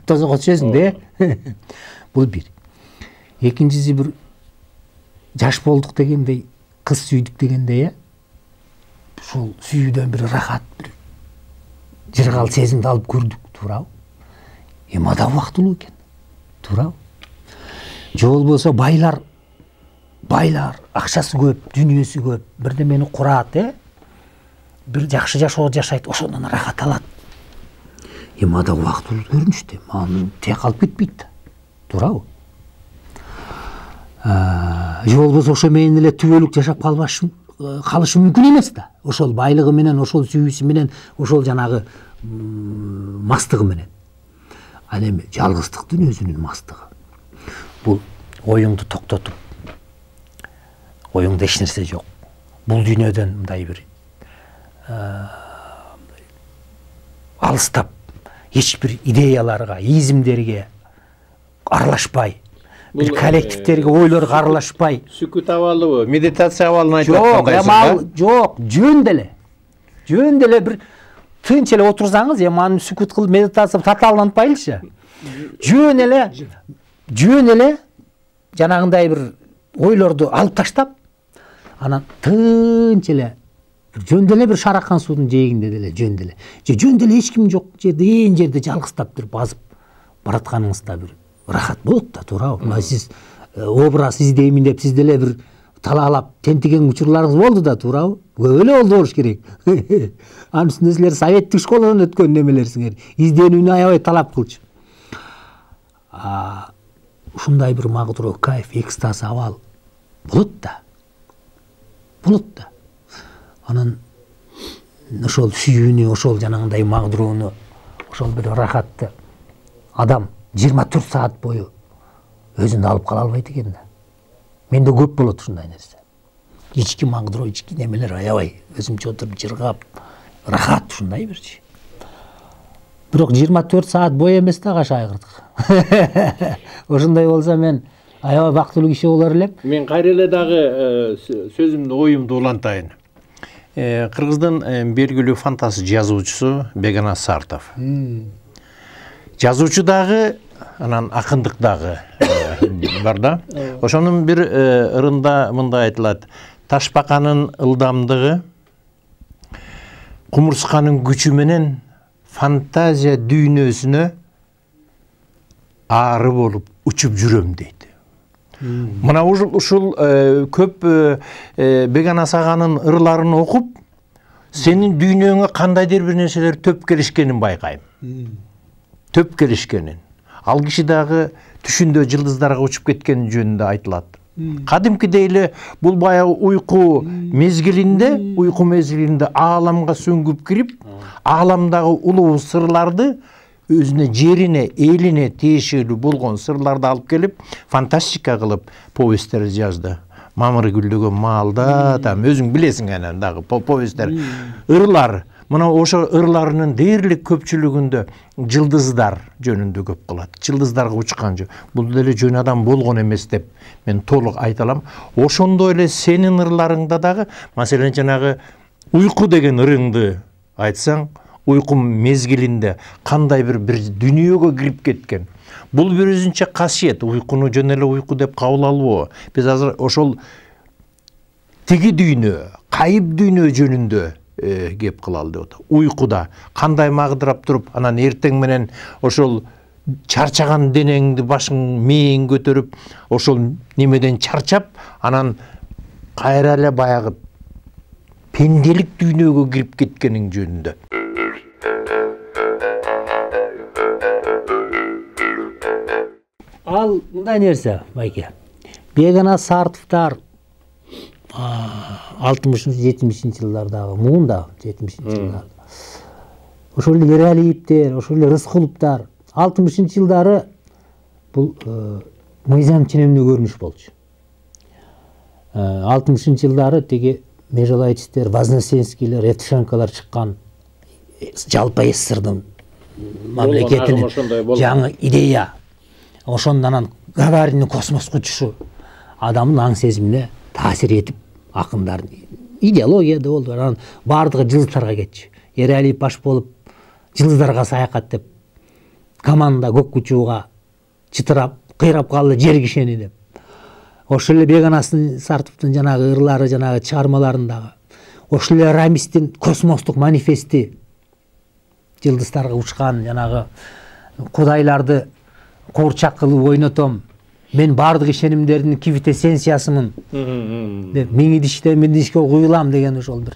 Speaker 2: тозокко түшөсүң да. Бул бир. Экинчиси бир жаш болдук дегендей, кыз сүйдүк дегендей, ушул сүйүүдөн бир ырахат, бир жыргал сезимди алып көрдүк, туурабы? Эми ада убактылуу экен. Туурабы? Же болбосо байлар, байлар, акчасы көп, дүйнөсү көп, бирдемени курат, э? Бир жакшы жашоо жашайт, ошондон ырахат алат. Эми ада убактылуу көрүнүштү. Аны тек алып кетпейт да. Туурабы? Же болбосо ошо менен эле түбөлүк жашап калбашы калышы мүмкүн эмес да. Ошол байлыгы менен, ошол сүйүүсү менен, ошол жанагы мастыгы менен. Ал эми жалгыздыктын өзүнүн мастыгы. Бул оюңду токтотуп, оюңда эч нерсе жок. Бул дүйнөдөн мындай бир алыстап, эч бир идеяларга, изимдерге аралашпай, бир коллективдерге, ойлорго аралашпай.
Speaker 1: Сүкүт абалыбы, медитация абалын айтып
Speaker 2: аткандайсың. Жок, жөн деле. Жөн деле бир тынч эле отурсаңыз, эми аны сүкүт кылып медитация татааланпайлычы. Жөн эле, жөн эле жанагындай бир ойлорду алып таштап, анан тынч эле жөн деле бир шаракан суунун жээгинде деле жөн деле. Же жөн деле эч ким жок жерде, ээн жерде жалгыздап бир базып баратканыңызда бир ырахат болот да, туурабы? Мына сиз образ издеймин деп сиз деле бир талаалап тентиген учурларыңыз болду да, туурабы? Көп эле болду болуш керек. Анын үстүнө силер советтик школадан өткөн немелерсиңер. Изденүүнү аябай талап кылчу. Ушундай бир магдыроо, кайф, экстаз абал болот да. Болот да. Анан ошол сүйүүнү, ошол жанагындай магдыроону, ошол бир ырахатты адам жыйырма төрт саат бою өзүндө алып кала албайт экен да. Менде көп болот ушундай нерсе. Ички магдыроо, ички немелер аябай өзүмчө отуруп жыргап, ырахат ушундай бирчи. Бирок жыйырма төрт саат бою эмес да каша айгырдык. Ошондой болсо мен аябай бактылуу киши болор элем.
Speaker 1: Мен кайра эле дагы сөзүмдү, оюмду улантайын. Кыргыздын белгилүү фантаст жазуучусу Бегназ Сартов. Жазуучу дагы, анан акындык дагы бар да. Ошонун бир ырында мындай айтылат: ташбаканын ылдамдыгы кумурсканын күчү менен фантазия дүйнөсүнө ары болуп учуп жүрөм дейт. Мына ушул көп Бегназ аганын ырларын окуп, сенин дүйнөңө кандайдыр бир нерселер төп келишкенин байкайм. Төп келишкенин. Ал киши дагы түшүндө жылдыздарга учуп кеткени жөнүндө айтылат. Кадимкидей эле бул баягы уйку мезгилинде, уйку мезгилинде ааламга сүңгүп кирип, ааламдагы улуу сырларды өзүнө жерине, элине тиешелүү болгон сырларды алып келип, фантастика кылып повесттер жазды. Мамыр гүлдөгөн маалда, там өзүң билесиң анан дагы повесттер. Ырлар, мына ошо ырларынын дээрлик көпчүлүгүндө жылдыздар жөнүндө көп кылат. Жылдыздарга учкан жок. Бул деле жөн адам болгон эмес деп мен толук айта алам. Ошондой эле сенин ырларыңда дагы, маселен жанагы уйку деген ырыңды айтсаң, уйку мезгилинде кандай бир бир дүйнөгө кирип кеткен. Бул бир өзүнчө касиет, уйкуну жөн эле уйку деп кабыл албоо. Биз азыр ошол тиги дүйнө, кайып дүйнө жөнүндө кеп кылалы деп атат. Уйкуда кандай магдырап туруп, анан эртең менен ошол чарчаган денеңди, башың, мээң көтөрүп, ошол немеден чарчап, анан кайра эле баягы пенделик дүйнөгө кирип кеткениң жөнүндө.
Speaker 2: Ал мындай нерсе, байке. Бегана Сартовдор алтымышынчы жетимишинчи жылдардагы, муунда жетимишинчи жылдарда. Ошол эле Эралиевдер, ошол эле Рыскуловдор алтымышынчы жылдары бул мыйзам ченемдүү көрүнүш болчу. алтымышынчы жылдары тиги Межалайчтер, Вознесенскийлер, Евтушенколор чыккан жалпы СССРдын мамлекетинин жаңы идея. Ошондон анан Гагаринин космоско учушу адамдын аң сезимине таасир этип, акындардын идеология да болду. Анан бардыгы жылдыздарга кетчү. Эралиев баш болуп, жылдыздарга саякат деп, команда көк учууга чытырап, кыйрап калды жер кишени деп. Ошол эле Беганасын Сартовдун жанагы ырлары, жанагы чыгармаларындагы, ошол эле Рамистин космостук манифести, жылдыздарга учкан жанагы кудайларды куурчак кылып ойнотом, мен бардык ишенимдердин квинтэссенциясымын деп, мен идиште мен идишке куюлам деген ошол бир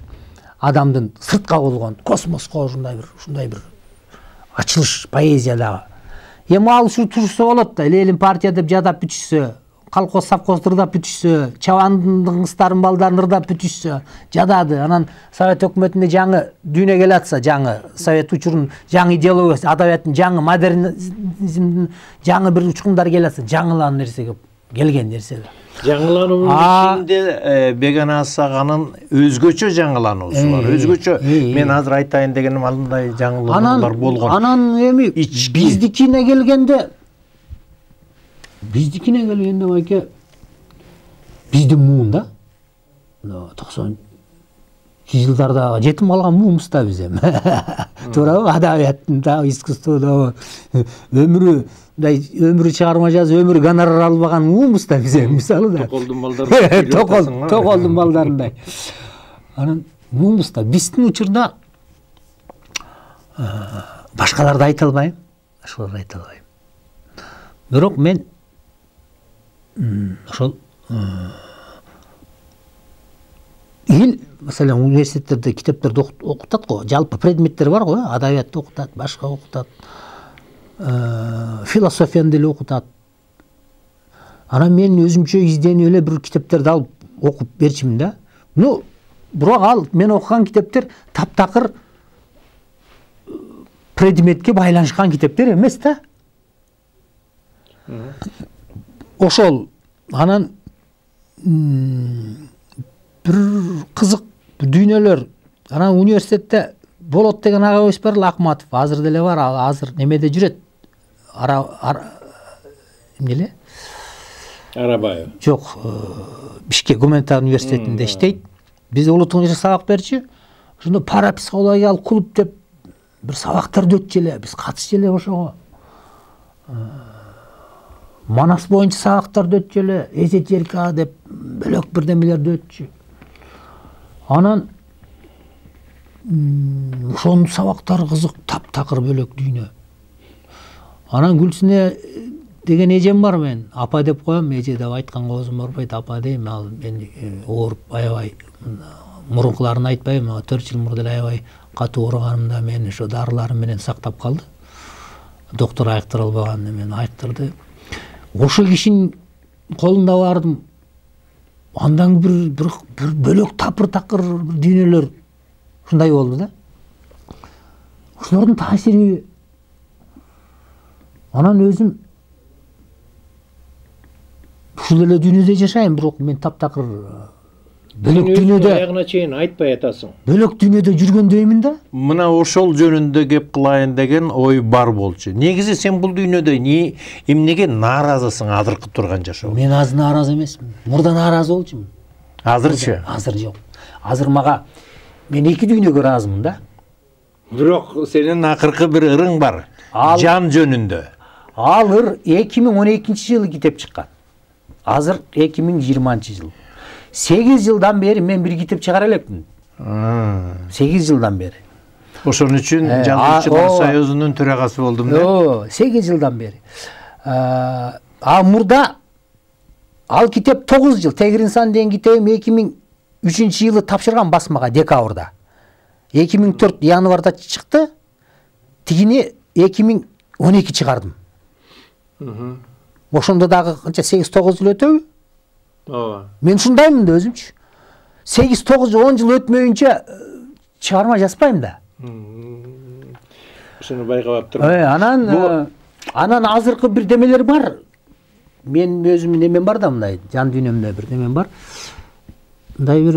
Speaker 2: адамдын сыртка болгон космоско ушундай бир ушундай бир ачылыш поэзиядагы. Эми ал ушу турса болот да, эле элин партия деп жадап бүтүшсө, колхоз совхоз ырдап бүтүшсө, чабандын кыздарын балдарын ырдап бүтүшсө, жадады. Анан Совет өкмөтүндө жаңы дүйнө келе атса, жаңы Совет учурунун жаңы идеологиясы, адабияттын жаңы модернизмдин жаңы бир учкундар келе атса, жаңылан нерсе келген нерсе.
Speaker 1: Жаңылануунун ичинде Беганас аганын өзгөчө жаңылануусу бар. Өзгөчө мен азыр айтайын дегеним андай жаңылануулар болгон.
Speaker 2: Анан эми биздикине келгенде Биздикине келгенде байке, биздин муунда токсонунчу жылдарда жетим калган муумуз да биз эми. Туурабы? Адабияттын да, искусстводо өмүрү, мындай өмүрү чыгарма жазып, өмүрү гонорар албаган муумуз да биз эми, мисалы да.
Speaker 1: Токолдун балдары.
Speaker 2: Токол, токолдун балдарындай. Анан муумуз да биздин учурда башкаларды айта албайм, башкаларды айта албайм. Бирок мен ошол эл, маселен, университеттерде китептерди окутат го, жалпы предметтер бар го, адабиятты окутат, башка окутат, философияны деле окутат. Анан мен өзүмчө изденип эле бир китептерди алып окуп берчимин да. Ну, бирок ал мен окуган китептер таптакыр предметке байланышкан китептер эмес да. Ошол анан бир кызык дүйнөлөр, анан университетте болот деген агабыз бар, Акматов, азыр деле бар, азыр немеде жүрөт. Ара эмне?
Speaker 1: Арабаев.
Speaker 2: Жок, Бишкек гуманитар университетинде иштейт. Биз улутуңча сабак берчү. Ошондо парапсихологиялык клуб деп бир сабактарды өтчү эле, биз катышчу эле ошого. Манас боюнча сабактарды өтчү эле, эзотерика деп бөлөк бирдемелерди өтчү. Анан ошонун сабактары кызык, таптакыр бөлөк дүйнө. Анан Гүлсүнө деген эжем бар, мен апа деп коем, эже деп айтканга оозум барбайт, апа дейм. Ал мен ооруп аябай мурункуларын айтпайм, төрт жыл мурда эле аябай катуу ооруганымда мен ошо дарыларым менен сактап калды. Доктор айыктыра албаган, мен айыктырды. Ошол кишинин колунда бардым, андан бир бир бөлөк тапыр такыр дүйнөлөр ушундай болду да. Ошолордун таасири анан өзүм ушул эле дүйнөдө жашайм, бирок мен таптакыр бөлөк дүйнөдө
Speaker 1: аягына чейин айтпай атасың.
Speaker 2: Бөлөк дүйнөдө жүргөндөймүн да.
Speaker 1: Мына ошол жөнүндө кеп кылайын деген ой бар болчу. Негизи сен бул дүйнөдө эмнеге нааразысың азыркы турган жашоо?
Speaker 2: Мен азыр нааразы эмесмин. Мурда нааразы болчумун.
Speaker 1: Азырчы?
Speaker 2: Азыр жок. Азыр мага мен эки дүйнөгө ыраазымын да.
Speaker 1: Бирок сенин акыркы бир ырың бар. Жан жөнүндө.
Speaker 2: Ал ыр эки миң он экинчи жылы китеп чыккан. Азыр эки миң жыйырманчы жыл. сегиз жылдан бери мен бир китеп чыгара элекмин. сегиз жылдан бери.
Speaker 1: Ошон үчүн Жазуучулар союзунун төрагасы болдум да.
Speaker 2: О, сегиз жылдан бери. А мурда ал китеп тогуз жыл, Тегир инсан деген китебим эки миң үчүнчү жылы тапшырган басмага декабрда. эки миң төрт январда чыкты. Тигини эки миң он эки чыгардым. Ошондо дагы канча сегиз тогуз жыл өтөбү?
Speaker 1: Ооба.
Speaker 2: Мен ушундаймын да өзүмчү. сегиз тогуз жыл он жыл өтмөйүнчө чыгарма жазбайм да.
Speaker 1: Ошону байкап турмун.
Speaker 2: Э, анан анан азыркы бир демелер бар. Мен өзүмдүн немем бар да, мындай жан дүйнөмдө бир немем бар. Мындай бир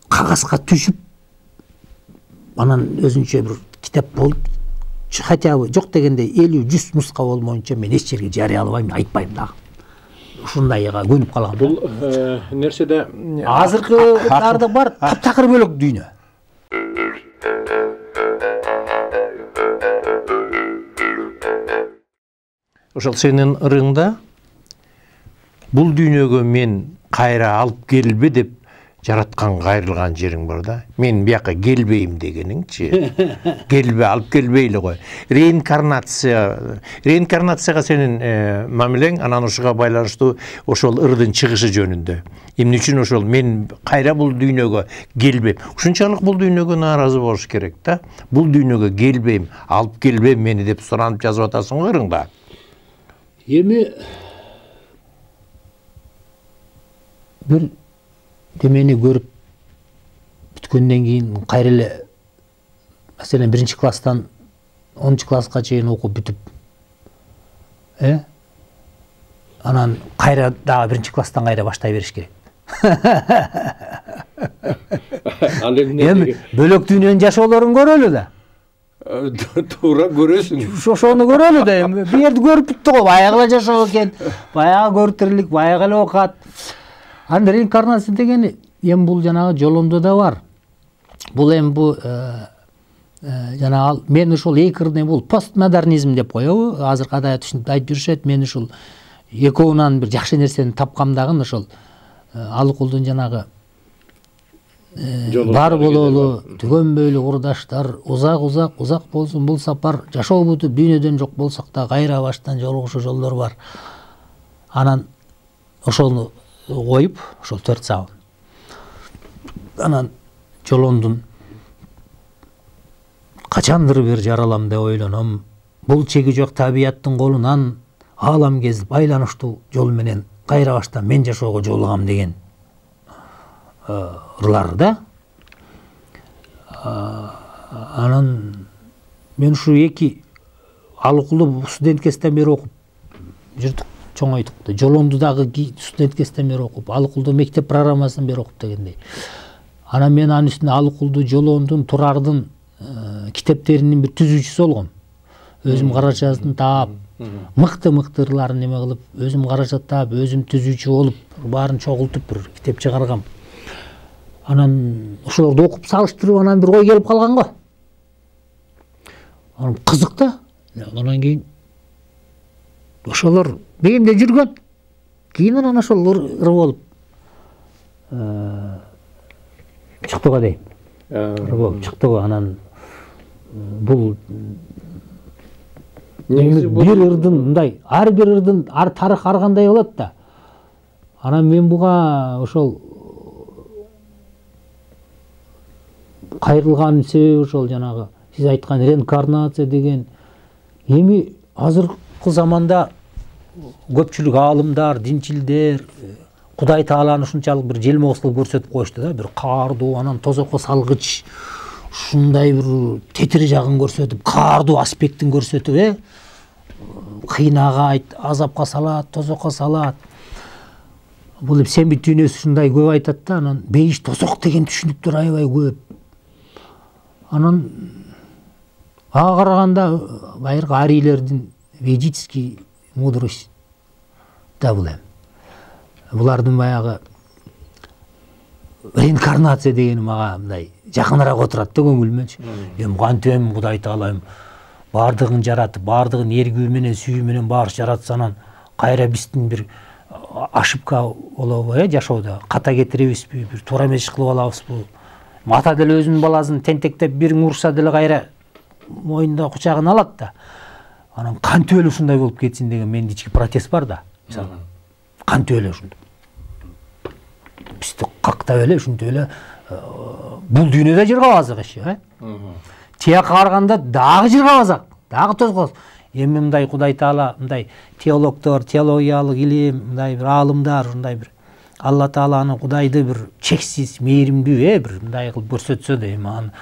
Speaker 2: кагазга түшүп анан өзүнчө бир китеп болуп, хотя бы жок дегенде элүү жүз нуска болмоюнча мен эч жерге жарыялабайм, айтпайм дагы. Ушундайга көнүп калгам.
Speaker 1: Бул нерседе
Speaker 2: азыркыларды бар, таптакыр бөлөк дүйнө.
Speaker 1: Ошол сенин ырыңда бул дүйнөгө мен кайра алып келбе деп жараткан кайрылган жериң бар да. Мен бияка келбейм дегениңчи. Келбе, алып келбейли кой. Реинкарнация, реинкарнацияга сенин мамилең анан ушуга байланыштуу ошол ырдын чыгышы жөнүндө. Эмне үчүн ошол мен кайра бул дүйнөгө келбейм. Ушунчалык бул дүйнөгө нааразы болуш керек да. Бул дүйнөгө келбейм, алып келбейм мени деп суранып жазып атасың го ырыңда.
Speaker 2: Эми бир демени көрүп бүткөндөн кийин кайра эле маселен биринчи класстан онунчу класска чейин окуп бүтүп, э анан кайра дагы биринчи класстан кайра баштай бериш керек.
Speaker 1: Ал
Speaker 2: эми бөлөк дүйнөнүн жашоолорун көрөлү да.
Speaker 1: Туура көрөсүң.
Speaker 2: Ошону көрөлү да, эми бу жерди көрүп бүттү го, баягы эле жашоо экен, баягы көрүп тирилик, баягы эле окат. Анда реинкарнация дегени эми бул жанагы жолондо да бар. Бул эми бу жанагы мен ушул эки ырды бул постмодернизм деп коебу. Азыркы адаят ушинтип айтып жүрүшөт. Мен ушул экөөнөн бир жакшы нерсени тапкам дагы ошол Алыкулдун жанагы бар бололу, түгөнбөйлү курдаштар, узак узак узак болсун бул сапар, жашоо бүтүп дүйнөдөн жок болсок да кайра баштан жолугушуу жолдор бар. Анан ошону коюп, ошол төрт сабын. Анан жолондун качандыр бир жаралам деп ойлоном. Бул чеги жок табияттын колунан аалам кезип айланыштуу жол менен кайра баштан мен жашоого жолугам деген ырлар да. Анан мен ушу эки Алыкулду студент кезден бери окуп жүрдүк, чоңойдук да. Жолонду дагы студент кезден бери окуп, Алыкулду мектеп программасын бери окуп дегендей. Анан мен анын үстүнө Алыкулду, Жолондун, Турардын китептеринин бир түзүүчүсү болгом. Өзүм карачасын таап, мыкты-мыкты ырларын неме кылып, өзүм карача таап, өзүм түзүүчү болуп, баарын чогултуп бир китеп чыгаргам. Анан ошолорду окуп салыштырып анан бир ой келип калган го. Анан кызык да. Анан кийин ошолор мээмде жүргөн. Кийин анан ошол ыр болуп чыкты го дейм. Ыр болуп чыкты го. Анан бул бир ырдын мындай, ар бир ырдын ар тарых ар кандай болот да. Анан мен буга ошол кайрылганын себеби ошол жанагы сиз айткан реинкарнация деген. Эми азыркы заманда көпчүлүк аалымдар, динчилдер, Кудай Тааланы ушунчалык бир желмоос кылып көрсөтүп коюшту да, бир каардуу, анан тозокко салгыч, ушундай бир тетир жагын көрсөтүп, каардуу аспектин көрсөтүп, э кыйнагайт, азапка салат, тозокко салат. Бул эп Сембит дүйнөсү ушундай көп айтат да, анан бейиш тозок деген түшүнүктөр аябай көп. Анан ага караганда байыркы арийлердин ведический мудрость да бул эми. Булардын баягы реинкарнация дегени мага мындай жакыныраак отурат да көңүлүмөнчү. Эми кантип эми Кудай Таала эми баардыгын жаратып, баардыгын эргүү менен, сүйүү менен баары жаратса, анан кайра биздин бир ошибка болобу, э жашоодо ката кетиребизби, бир туура эмес иш кылып алабызбы? Ата деле өзүнүн баласын тентектеп бириң урса деле кайра моюнда кучагына алат да. Анан кантип эле ушундай болуп кетсин деген менин ички протест бар да. Мисалы, кантип эле ушундай. Бизди кактап эле ушинтип эле бул дүйнөдө жыргабазык иши, э? Тияка караганда дагы жыргабазак, дагы тозгоз. Эми мындай Кудай Таала, мындай теологдор, теологиялык илим, мындай бир аалымдар, ушундай бир Алла Тааланы, Кудайды бир чексиз мээримдүү, э, бир мындай кылып көрсөтсө да, эми аны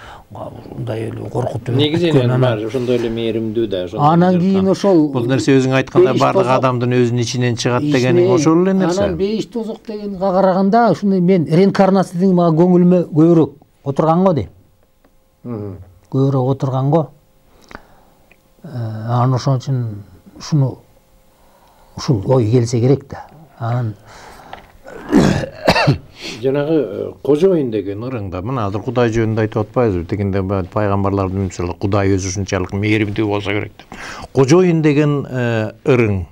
Speaker 2: мындай эле коркутуп.
Speaker 3: Негизинен бар ошондой эле мээримдүү да, ошондой.
Speaker 2: Анан кийин ошол
Speaker 1: бул нерсе өзүң айткандай бардык адамдын өзүнүн ичинен чыгат дегениң ошол эле нерсе.
Speaker 2: Анан бейиш тозок дегенге караганда ушундай мен реинкарнация деген мага көңүлүмө көбүрөөк отурган го дейм. Көбүрөөк отурган го. Анан ошон үчүн ушуну ушул ой келсе керек да. Анан
Speaker 3: жанагы кожоюн деген
Speaker 1: ырыңда мына азыр Кудай жөнүндө айтып атпайбызбы? Тегинде пайгамбарлардын мисалы Кудай өзү ушунчалык мээримдүү болсо керек деп. Кожоюн деген ырың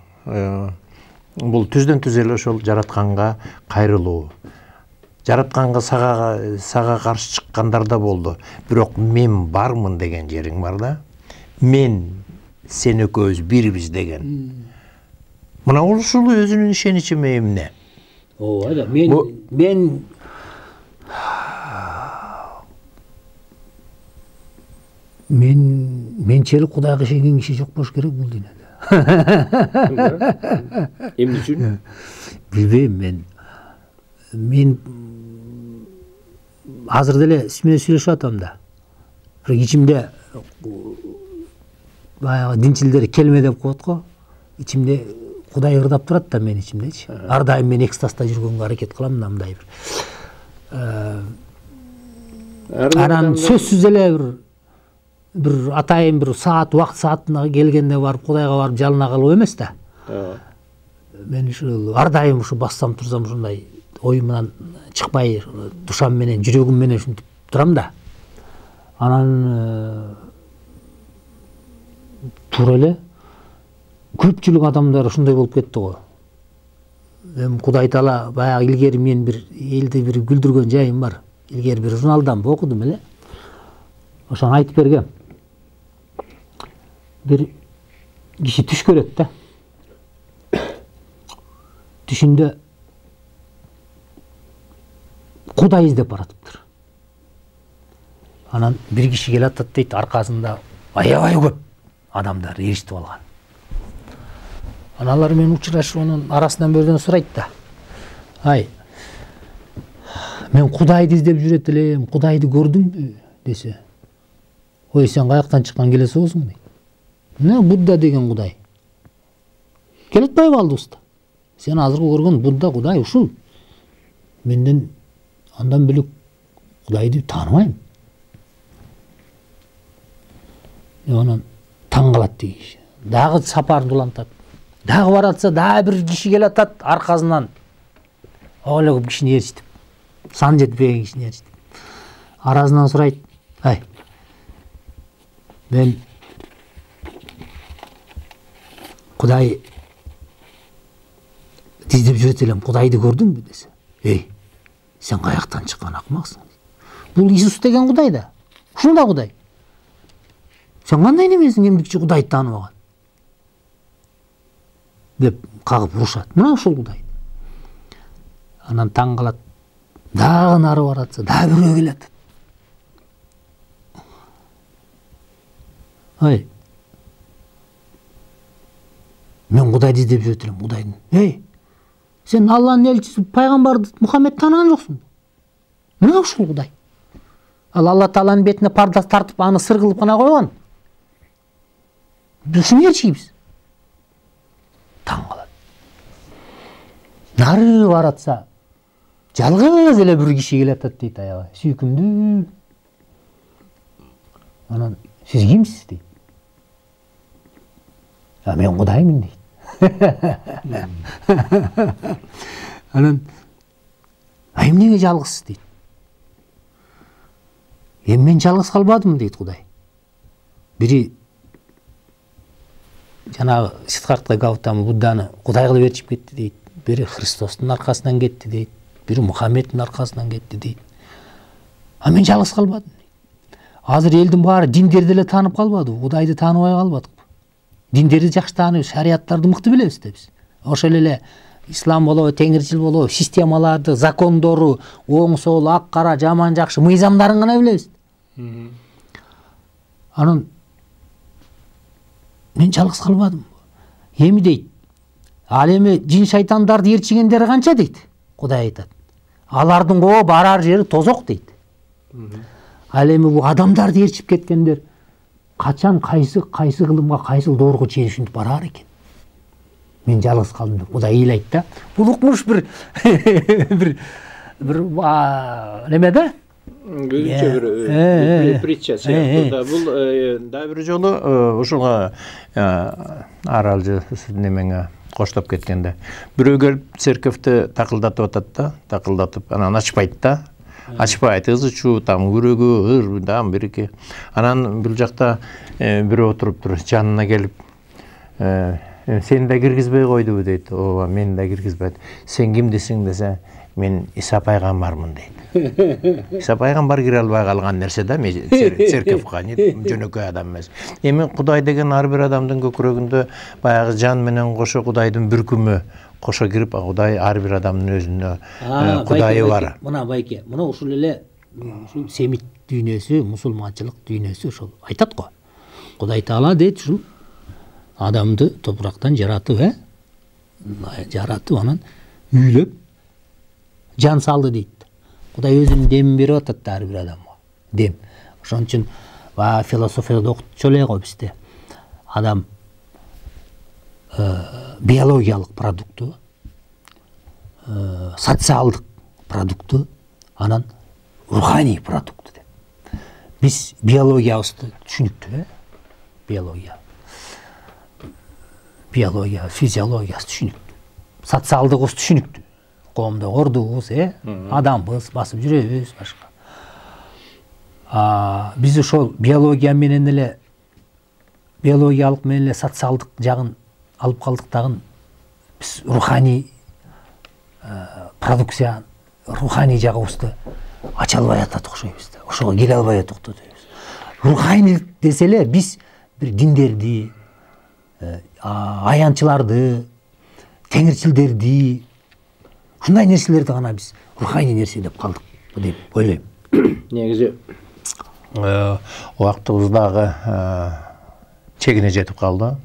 Speaker 1: бул түздөн түз эле ошол жаратканга кайрылуу. Жаратканга сага сага каршы чыккандар да болду. Бирок мен бармын деген жериң бар да. Мен сен экөөбүз бирбиз деген. Мына ушул өзүнүн ишеничи эмне?
Speaker 2: Ооба да, мен мен мен менчелик Кудайга ишенген киши жок болуш керек бул дүйнөдө.
Speaker 3: Эмне үчүн?
Speaker 2: Билбейм мен. Мен азыр деле сиз менен сүйлөшүп атам да. Бирок ичимде баягы динчилдер келме деп коет го. Ичимде Кудай ырдап турат да мен ичимдечи. Ар дайым мен экстазда жүргөнгө аракет кылам мындай бир. Анан сөзсүз эле бир бир атайын бир саат убакыт саатына келгенде барып Кудайга барып жалына калуу эмес да. Мен ушул ар дайым ушу бассам турсам ушундай оюмдан чыкпай душам менен жүрөгүм менен ушинтип турам да. Анан туура эле көпчүлүк адамдар ушундай болуп кетти го. Эми Кудай Таала баягы илгери мен бир элди бир күлдүргөн жайым бар. Илгери бир журналдан окудум эле. Ошону айтып бергем. Бир киши түш көрөт да. Түшүндө Кудай издеп баратыптыр. Анан бир киши келип атат дейт, аркасында аябай көп адамдар эриштип алган. Анан алар менен учурашып, анын арасынан бирден сурайт да. Ай, мен Кудайды издеп жүрөт элем, Кудайды көрдүмбү десе. Ой, сен каяктан чыккан келе соосуң дейт. Эмне Будда деген Кудай? Келе атпайбы алдыбызда? Сен азыркы көргөн Будда Кудай ушул. Менден андан бөлөк Кудайды тааныбайм. Анан таң калат дейт. Дагы сапарын улантат. Дагы баратса, дагы бир киши келе атат аркасынан. Ала көп кишини ээрчитип. Сан жетпеген кишини ээрчитип. Арасынан сурайт. Ай. Мен Кудай издеп жүрөт элем, Кудайды көрдүңбү десе. Эй, сен каяктан чыккан акмаксың? Бул Иисус деген Кудай да. Ушундай Кудай. Сен кандай немесиң эмдикчи Кудайды тааныбаган? Деп кагып урушат. Мына ушул Кудай. Анан таң калат. Дагы нары баратса, дагы бирөө келет. Ай. Мен Кудайды издеп жүрөт элем, Кудайдын. Эй, Сен Алланын элчиси пайгамбарды Мухаммед таанаган жоксуң. Эмне ушул Кудай? Ал Алла Тааланын бетине парда тартып, аны сыр кылып гана койгон. Биз элчибиз. Таң калат. Нары баратса, жалгыз эле бир киши келатат дейт аяга. Сүйкүмдүү. Анан сиз кимсиз дейт. А мен Кудаймын дейт. Анан а эмнеге жалгызсыз дейт. Эми мен жалгыз калбадым дейт Кудай. Бири жанагы Сиддхартха Гаутама Будданы Кудай кылып ээрчип кетти дейт. Бири Христостун аркасынан кетти дейт. Бири Мухаммедтин аркасынан кетти дейт. А мен жалгыз калбадым дейт. Азыр элдин баары диндерди эле таанып калбады, Кудайды тааныбай калбадык. Диндерди жакшы тааныбыз, шариаттарды мыкты билебиз да биз. Ошол эле ислам болобу, теңирчил болобу, системаларды, закондору, оң сол, ак кара, жаман жакшы мыйзамдарын гана билебиз. Анан мен жалгыз калбадым. Эми дейт, ал эми жин шайтандарды ээрчигендери канча дейт. Кудай айтат. Алардын коо барар жери тозок дейт. Ал эми бу адамдарды ээрчип кеткендер качан кайсы кайсы кылымга, кайсы доорго чейин ушинтип барар экен. Мен жалгыз калдым деп Кудай ыйлайт да. Бул укмуш бир бир бир неме да?
Speaker 3: Өзүнчө бир притча сыяктуу да. Бул
Speaker 1: дагы бир жолу ушуга аралжы немеңе коштоп кеткенде бирөө келип церковду такылдатып атат да, такылдатып анан ачпайт да. Ачпайт, ызы чуу, там күрөгү, ыр, там бир-эки. Анан бул жакта бирөө отуруптур, жанына келип, сени да киргизбей койдубу дейт. Ооба, мени да киргизбейт. Сен кимдисиң десе, мен Иса пайгамбармын дейт. Иса пайгамбар кире албай калган нерсе да, церковго, жөнөкөй адам эмес. Эми Кудай деген ар бир адамдын көкүрөгүндө баягы жан менен кошо Кудайдын бүркүмү кошо кирип, Кудай ар бир адамдын өзүнө Кудайы бар.
Speaker 2: Мына байке, мына ушул эле ушул семит дүйнөсү, мусулманчылык дүйнөсү ошол айтат го. Кудай Таала дейт, ушул адамды топурактан жаратып, э? Жаратып, анан үйлөп жан салды дейт. Кудай өзүнүн демин берип атат ар бир адамга. Дем. Ошон үчүн баягы философияда окутчу эле го бизде. Адам биологиялык продукту, социалдык продукту, анан руханий продукту деп. Биз биологиябызды түшүнүктүү, э? Биология. Биология, физиологиясы түшүнүктүү. Социалдыгыбыз түшүнүктүү. Коомдо ордубуз, э? Адамбыз, басып жүрөбүз, башка. А биз ошол биология менен эле биологиялык менен эле социалдык жагын алып калдык дагы биз руханий продукция, руханий жагыбызды ача албай атат окшойбуз да. Ошого келе албай атат дейбиз. Руханийлик десе эле биз бир диндерди, аянчыларды, теңирчилдерди, ушундай нерселерди гана биз руханий нерсе деп калдык деп ойлойм.
Speaker 3: Негизи
Speaker 1: убактыбыз дагы чегине жетип калды.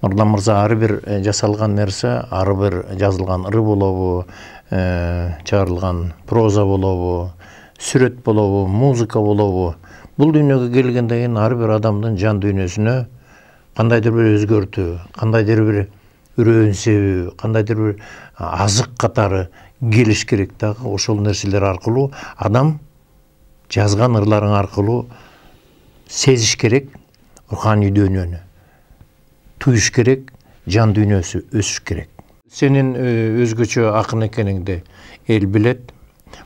Speaker 1: Нурлан мырза ар бир жасалган нерсе, ар бир жазылган ыры болобу, чыгарылган проза болобу, сүрөт болобу, музыка болобу, бул дүйнөгө келгенден кийин ар бир адамдын жан дүйнөсүнө кандайдыр бир өзгөртүү, кандайдыр бир үрөөн себеби, кандайдыр бир азык катары келиш керек дагы. Ошол нерселер аркылуу адам жазган ырларың аркылуу сезиш керек руханий дүйнөнү, туюш керек, жан дүйнөсү өсүш керек. Сенин өзгөчө акын экениңди эл билет.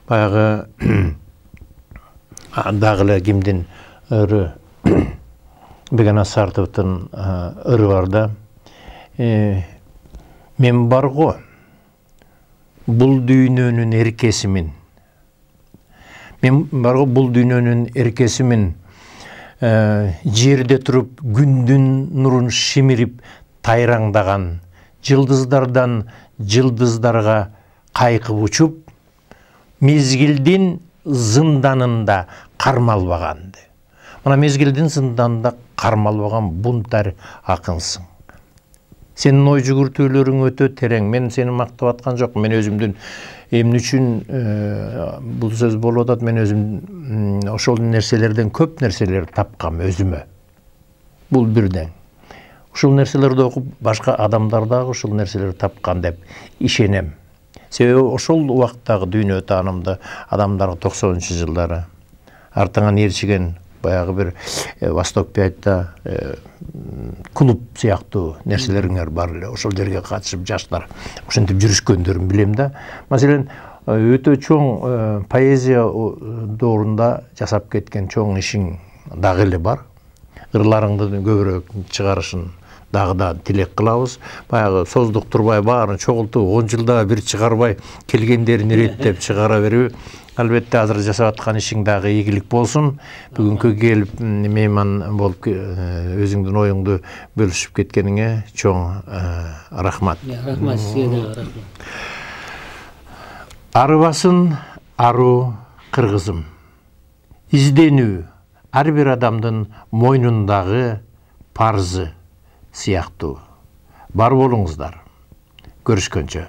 Speaker 1: Баягы дагы эле кимдин ыры, Беканас Сартовдун ыры бар да. Мен бар го, бул дүйнөнүн эркесимин. Мен бар го, бул дүйнөнүн эркесимин. Жерде туруп күндүн нурун шимирип тайраңдаган, жылдыздардан жылдыздарга кайкып учуп, мезгилдин зынданында кармалбаган. Мына мезгилдин зынданында кармалбаган бунтар акынсың. Сенин ой жүгүртүүлөрүң өтө терең. Мен сени мактап аткан жокмун. Мен өзүмдүн эмне үчүн бул сөз болуп атат, мен өзүм ошол нерселерден көп нерселер тапкам өзүмө. Бул бирден. Ушул нерселерди окуп башка адамдар дагы ушул нерселерди тапкан деп ишенем. Себеби ошол убакыттагы дүйнө таанымды адамдар токсонунчу жылдары артыңан ээрчиген баягы бир Восток пятьта клуб сыяктуу нерселериңер бар эле. Ошол жерге катышып жаштар ошентип жүрүшкөндөрүн билем да. Маселен, өтө чоң поэзия доорунда жасап кеткен чоң ишиң дагы эле бар. Ырларыңды көбүрөөк чыгарышын дагы да тилек кылабыз. Баягы создук турбай баарын чогултуп он жылда бир чыгарбай келгендерин иреттеп чыгара берүү. Албетте азыр жасап аткан ишиң дагы ийгилик болсун. Бүгүнкү келип мейман болуп өзүңдүн оюңду бөлүшүп кеткениңе чоң рахмат.
Speaker 2: Рахмат сизге дагы рахмат.
Speaker 1: Арыбасын аруу кыргызым. Изденүү ар бир адамдын мойнундагы парзы сыяктуу. Бар болуңуздар. Көрүшкөнчө.